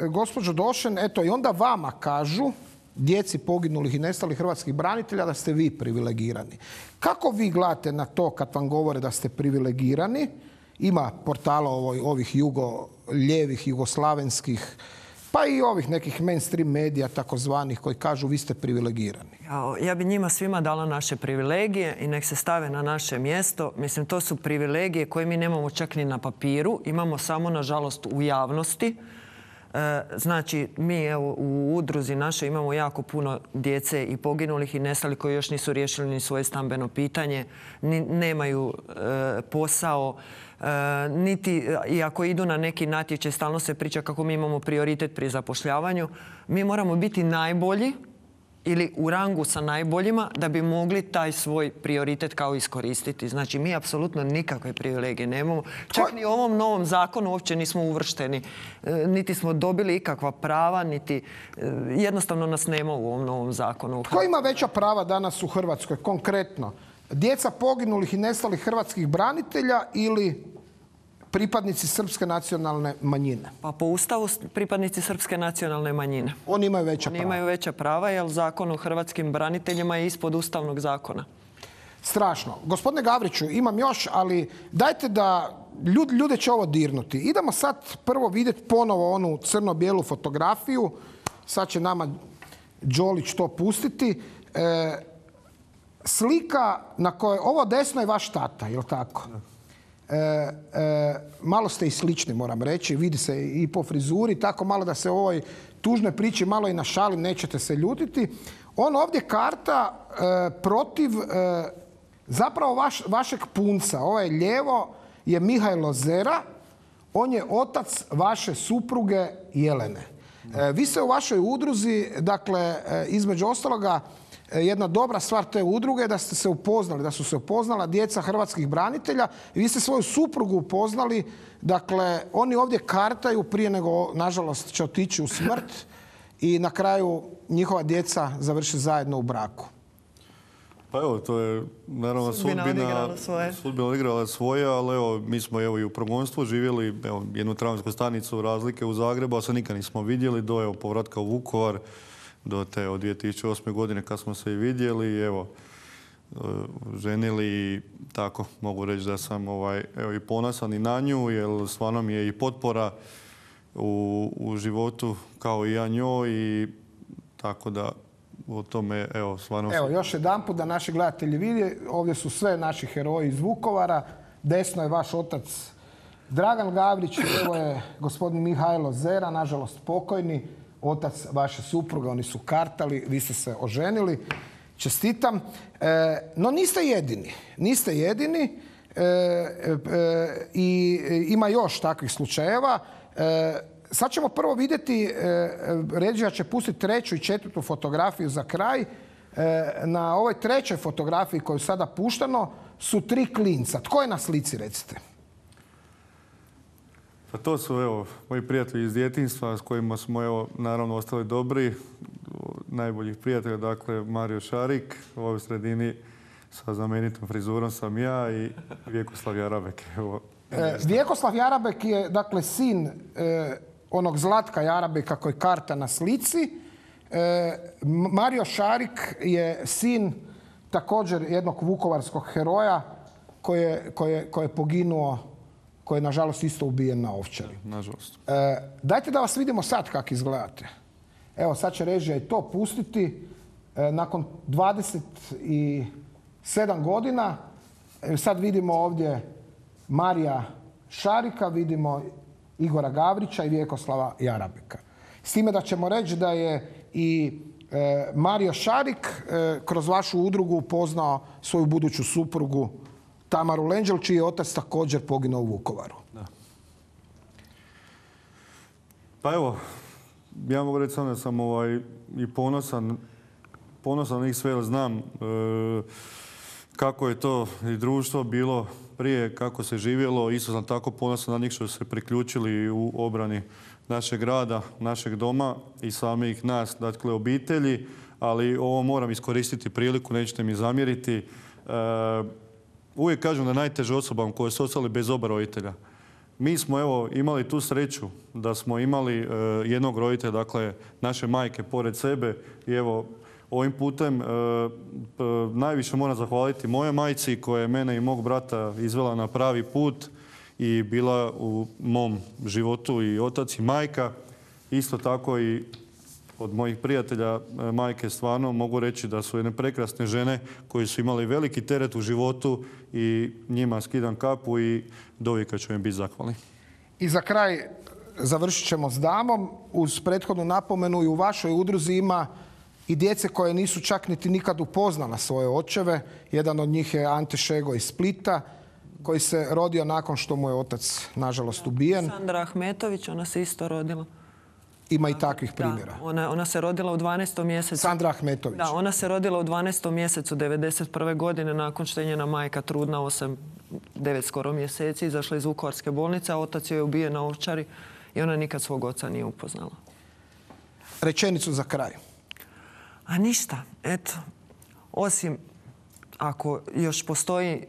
gospođo Došen, eto i onda vama kažu, djeci poginulih i nestalih hrvatskih branitelja, da ste vi privilegirani. Kako vi gledate na to kad vam govore da ste privilegirani? Ima portala ovih lijevih, jugoslavenskih, pa i ovih nekih mainstream medija takozvanih koji kažu vi ste privilegirani.
Ja bi njima svima dala naše privilegije i nek se stave na naše mjesto. Mislim, to su privilegije koje mi nemamo čak ni na papiru. Imamo samo, nažalost, u javnosti. Znači, mi evo, u udruzi naše imamo jako puno djece i poginulih i nestalih koji još nisu riješili ni svoje stambeno pitanje, nemaju posao, niti i ako idu na neki natječaj, stalno se priča kako mi imamo prioritet pri zapošljavanju. Mi moramo biti najbolji ili u rangu sa najboljima da bi mogli taj svoj prioritet kao iskoristiti. Znači, mi apsolutno nikakve privilegije nemamo. Čak ni u ovom novom zakonu uopće nismo uvršteni. Niti smo dobili ikakva prava, niti jednostavno nas nema u ovom novom zakonu.
Tko ima veća prava danas u Hrvatskoj, konkretno? Djeca poginulih i nestalih hrvatskih branitelja ili pripadnici srpske nacionalne manjine?
Pa po Ustavu pripadnici srpske nacionalne manjine.
Oni imaju veća prava?
Oni imaju veća prava jer zakon o hrvatskim braniteljima je ispod ustavnog zakona.
Strašno. Gospodine Gavriću, imam još, ali dajte da ljude će ovo dirnuti. Idemo sad prvo vidjeti ponovo onu crno-bijelu fotografiju. Sad će nama Đolić to pustiti. Slika na kojoj... Ovo desno je vaš tata, je li tako? Malo ste i slični, moram reći. Vidi se i po frizuri, tako malo da se u ovoj tužnoj priči malo i našalim, nećete se ljutiti. On ovdje karta protiv zapravo vašeg punca. Ovaj lijevo je Mihajlo Zera. On je otac vaše supruge Jelene. Vi se u vašoj udruzi, dakle, između ostaloga, jedna dobra stvar te udruge je da ste se upoznali, da su se upoznala djeca hrvatskih branitelja i vi ste svoju suprugu upoznali. Dakle, oni ovdje kartaju prije nego, nažalost, će otići u smrt i na kraju njihova djeca završe zajedno u braku.
Pa evo, to je naravno sudbina odigrala svoje, ali evo, mi smo evo i u progonstvu živjeli jednu tramvajsku stanicu razlike u Zagrebu, a se nikad nismo vidjeli do povratka u Vukovar, do te od 2008. godine kad smo se i vidjeli, evo, ženili i tako mogu reći da sam evo, i ponosan i na nju, jer stvarno mi je i potpora u životu kao i ja njoj i tako da o tome, evo, stvarno...
Evo, još jedanput da naši gledatelji vide, ovdje su sve naši heroji iz Vukovara, desno je vaš otac Dragan Gavrić, evo je gospodin Mihajlo Zera, nažalost pokojni, otac vaše supruge, oni su kartali, vi ste se oženili, čestitam. No niste jedini, i ima još takvih slučajeva. Sad ćemo prvo vidjeti, Ređija će pustiti treću i četvrtu fotografiju za kraj. Na ovoj trećoj fotografiji koju sada puštano su 3 klinca. Tko je na slici, recite?
Pa to su, evo, moji prijatelji iz djetinjstva s kojima smo, evo, naravno ostali dobri. Najboljih prijatelja, dakle, Mario Šarik, u ovoj sredini sa znamenitom frizurom sam ja i Vjekoslav Jarabek. Evo,
Vjekoslav Jarabek je, dakle, sin onog Zlatka Jarabeka koji karta na slici. Mario Šarik je sin također jednog vukovarskog heroja koji je poginuo, koji je, nažalost, isto ubijen na Ovčari.
Nažalost.
Dajte da vas vidimo sad kako izgledate. Evo, sad će režija i to pustiti. Nakon 27 godina, sad vidimo ovdje Marija Šarika, vidimo Igora Gavrića i Vjekoslava Jarabeka. S time da ćemo reći da je i Mario Šarik kroz vašu udrugu upoznao svoju buduću suprugu Tamaru Lenđel, čiji je otac također poginuo u Vukovaru.
Da. Pa evo, ja mogu reći da sam i ponosan na njih sve, jer znam kako je to i društvo bilo prije, kako se živjelo. Isto sam tako ponosan na njih što su se priključili u obrani našeg grada, našeg doma i samih nas, dakle obitelji. Ali ovo moram iskoristiti priliku, nećete mi zamjeriti. Uvijek kažem da najteže osobama koje su ostali bez oba roditelja. Mi smo evo imali tu sreću da smo imali jednog roditelja, dakle naše majke pored sebe i evo ovim putem najviše moram zahvaliti mojoj majci koja je mene i mog brata izvela na pravi put i bila u mom životu i otac i majka. Isto tako i od mojih prijatelja majke stvarno mogu reći da su jedne prekrasne žene koje su imali veliki teret u životu i njima skidam kapu i dovijeka ću im biti zahvalni.
I za kraj završit ćemo s damom. Uz prethodnu napomenu i u vašoj udruzi ima i djece koje nisu čak niti nikad upoznala svoje očeve. Jedan od njih je Ante Šego iz Splita koji se rodio nakon što mu je otac nažalost ubijen.
Sandra Ahmetović, ona se isto rodila.
Ima i takvih primjera.
Da, ona se rodila u 12. mjesecu.
Sandra Ahmetović.
Da, ona se rodila u 12. mjesecu 1991. godine nakon što je njena majka trudna 9 skoro mjeseci, izašla iz Vukovarske bolnice, a otac joj je ubijen na Ovčari i ona nikad svog oca nije upoznala.
Rečenicu za kraj.
A ništa, eto, osim ako još postoji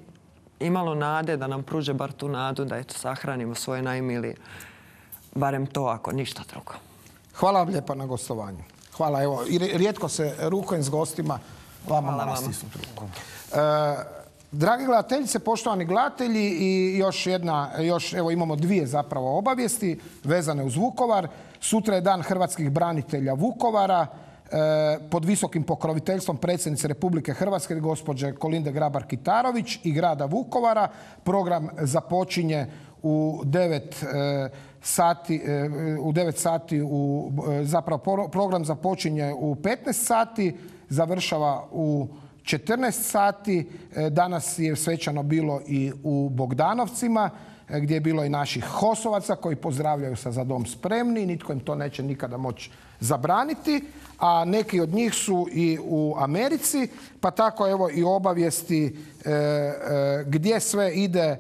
imalo nade da nam pruže bar tu nadu da eto sahranimo svoje najmilije. Barem to ako ništa drugo.
Hvala vam lijepa na gostovanju. Hvala, evo, i rijetko se rukujem s gostima, vama moram stisnuti ruku. Dragi gledateljice, poštovani gledatelji, i evo imamo dvije zapravo obavijesti vezane uz Vukovar. Sutra je Dan hrvatskih branitelja Vukovara pod visokim pokroviteljstvom predsjednice Republike Hrvatske, gospođe Kolinde Grabar-Kitarović i grada Vukovara. Program započinje u 9 sati, zapravo program započinje u 15 sati, završava u 14 sati. Danas je svečano bilo i u Bogdanovcima, gdje je bilo i naših HOS-ovaca koji pozdravljaju sa Za dom spremni. Nitko im to neće nikada moći zabraniti. A neki od njih su i u Americi, pa tako evo i obavijesti gdje sve ide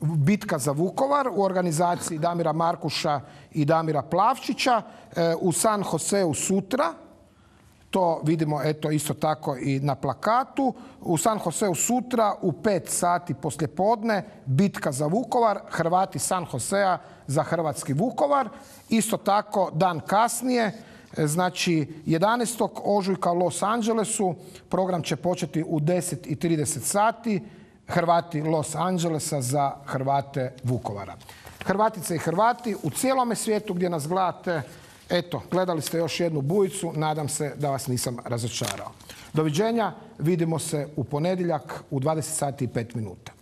bitka za Vukovar u organizaciji Damira Markuša i Damira Plavčića u San Joseu sutra. To vidimo eto isto tako i na plakatu. U San Joseu sutra u 5 sati poslijepodne bitka za Vukovar, Hrvati San Josea za hrvatski Vukovar. Isto tako dan kasnije, znači 11. ožujka u Los Angelesu, program će početi u 10:30 sati. Hrvati Los Angelesa za Hrvate Vukovara. Hrvatice i Hrvati u cijelome svijetu gdje nas gledate, eto, gledali ste još jednu bujicu, nadam se da vas nisam razočarao. Doviđenja, vidimo se u ponedjeljak u 20 sati i 5 minuta.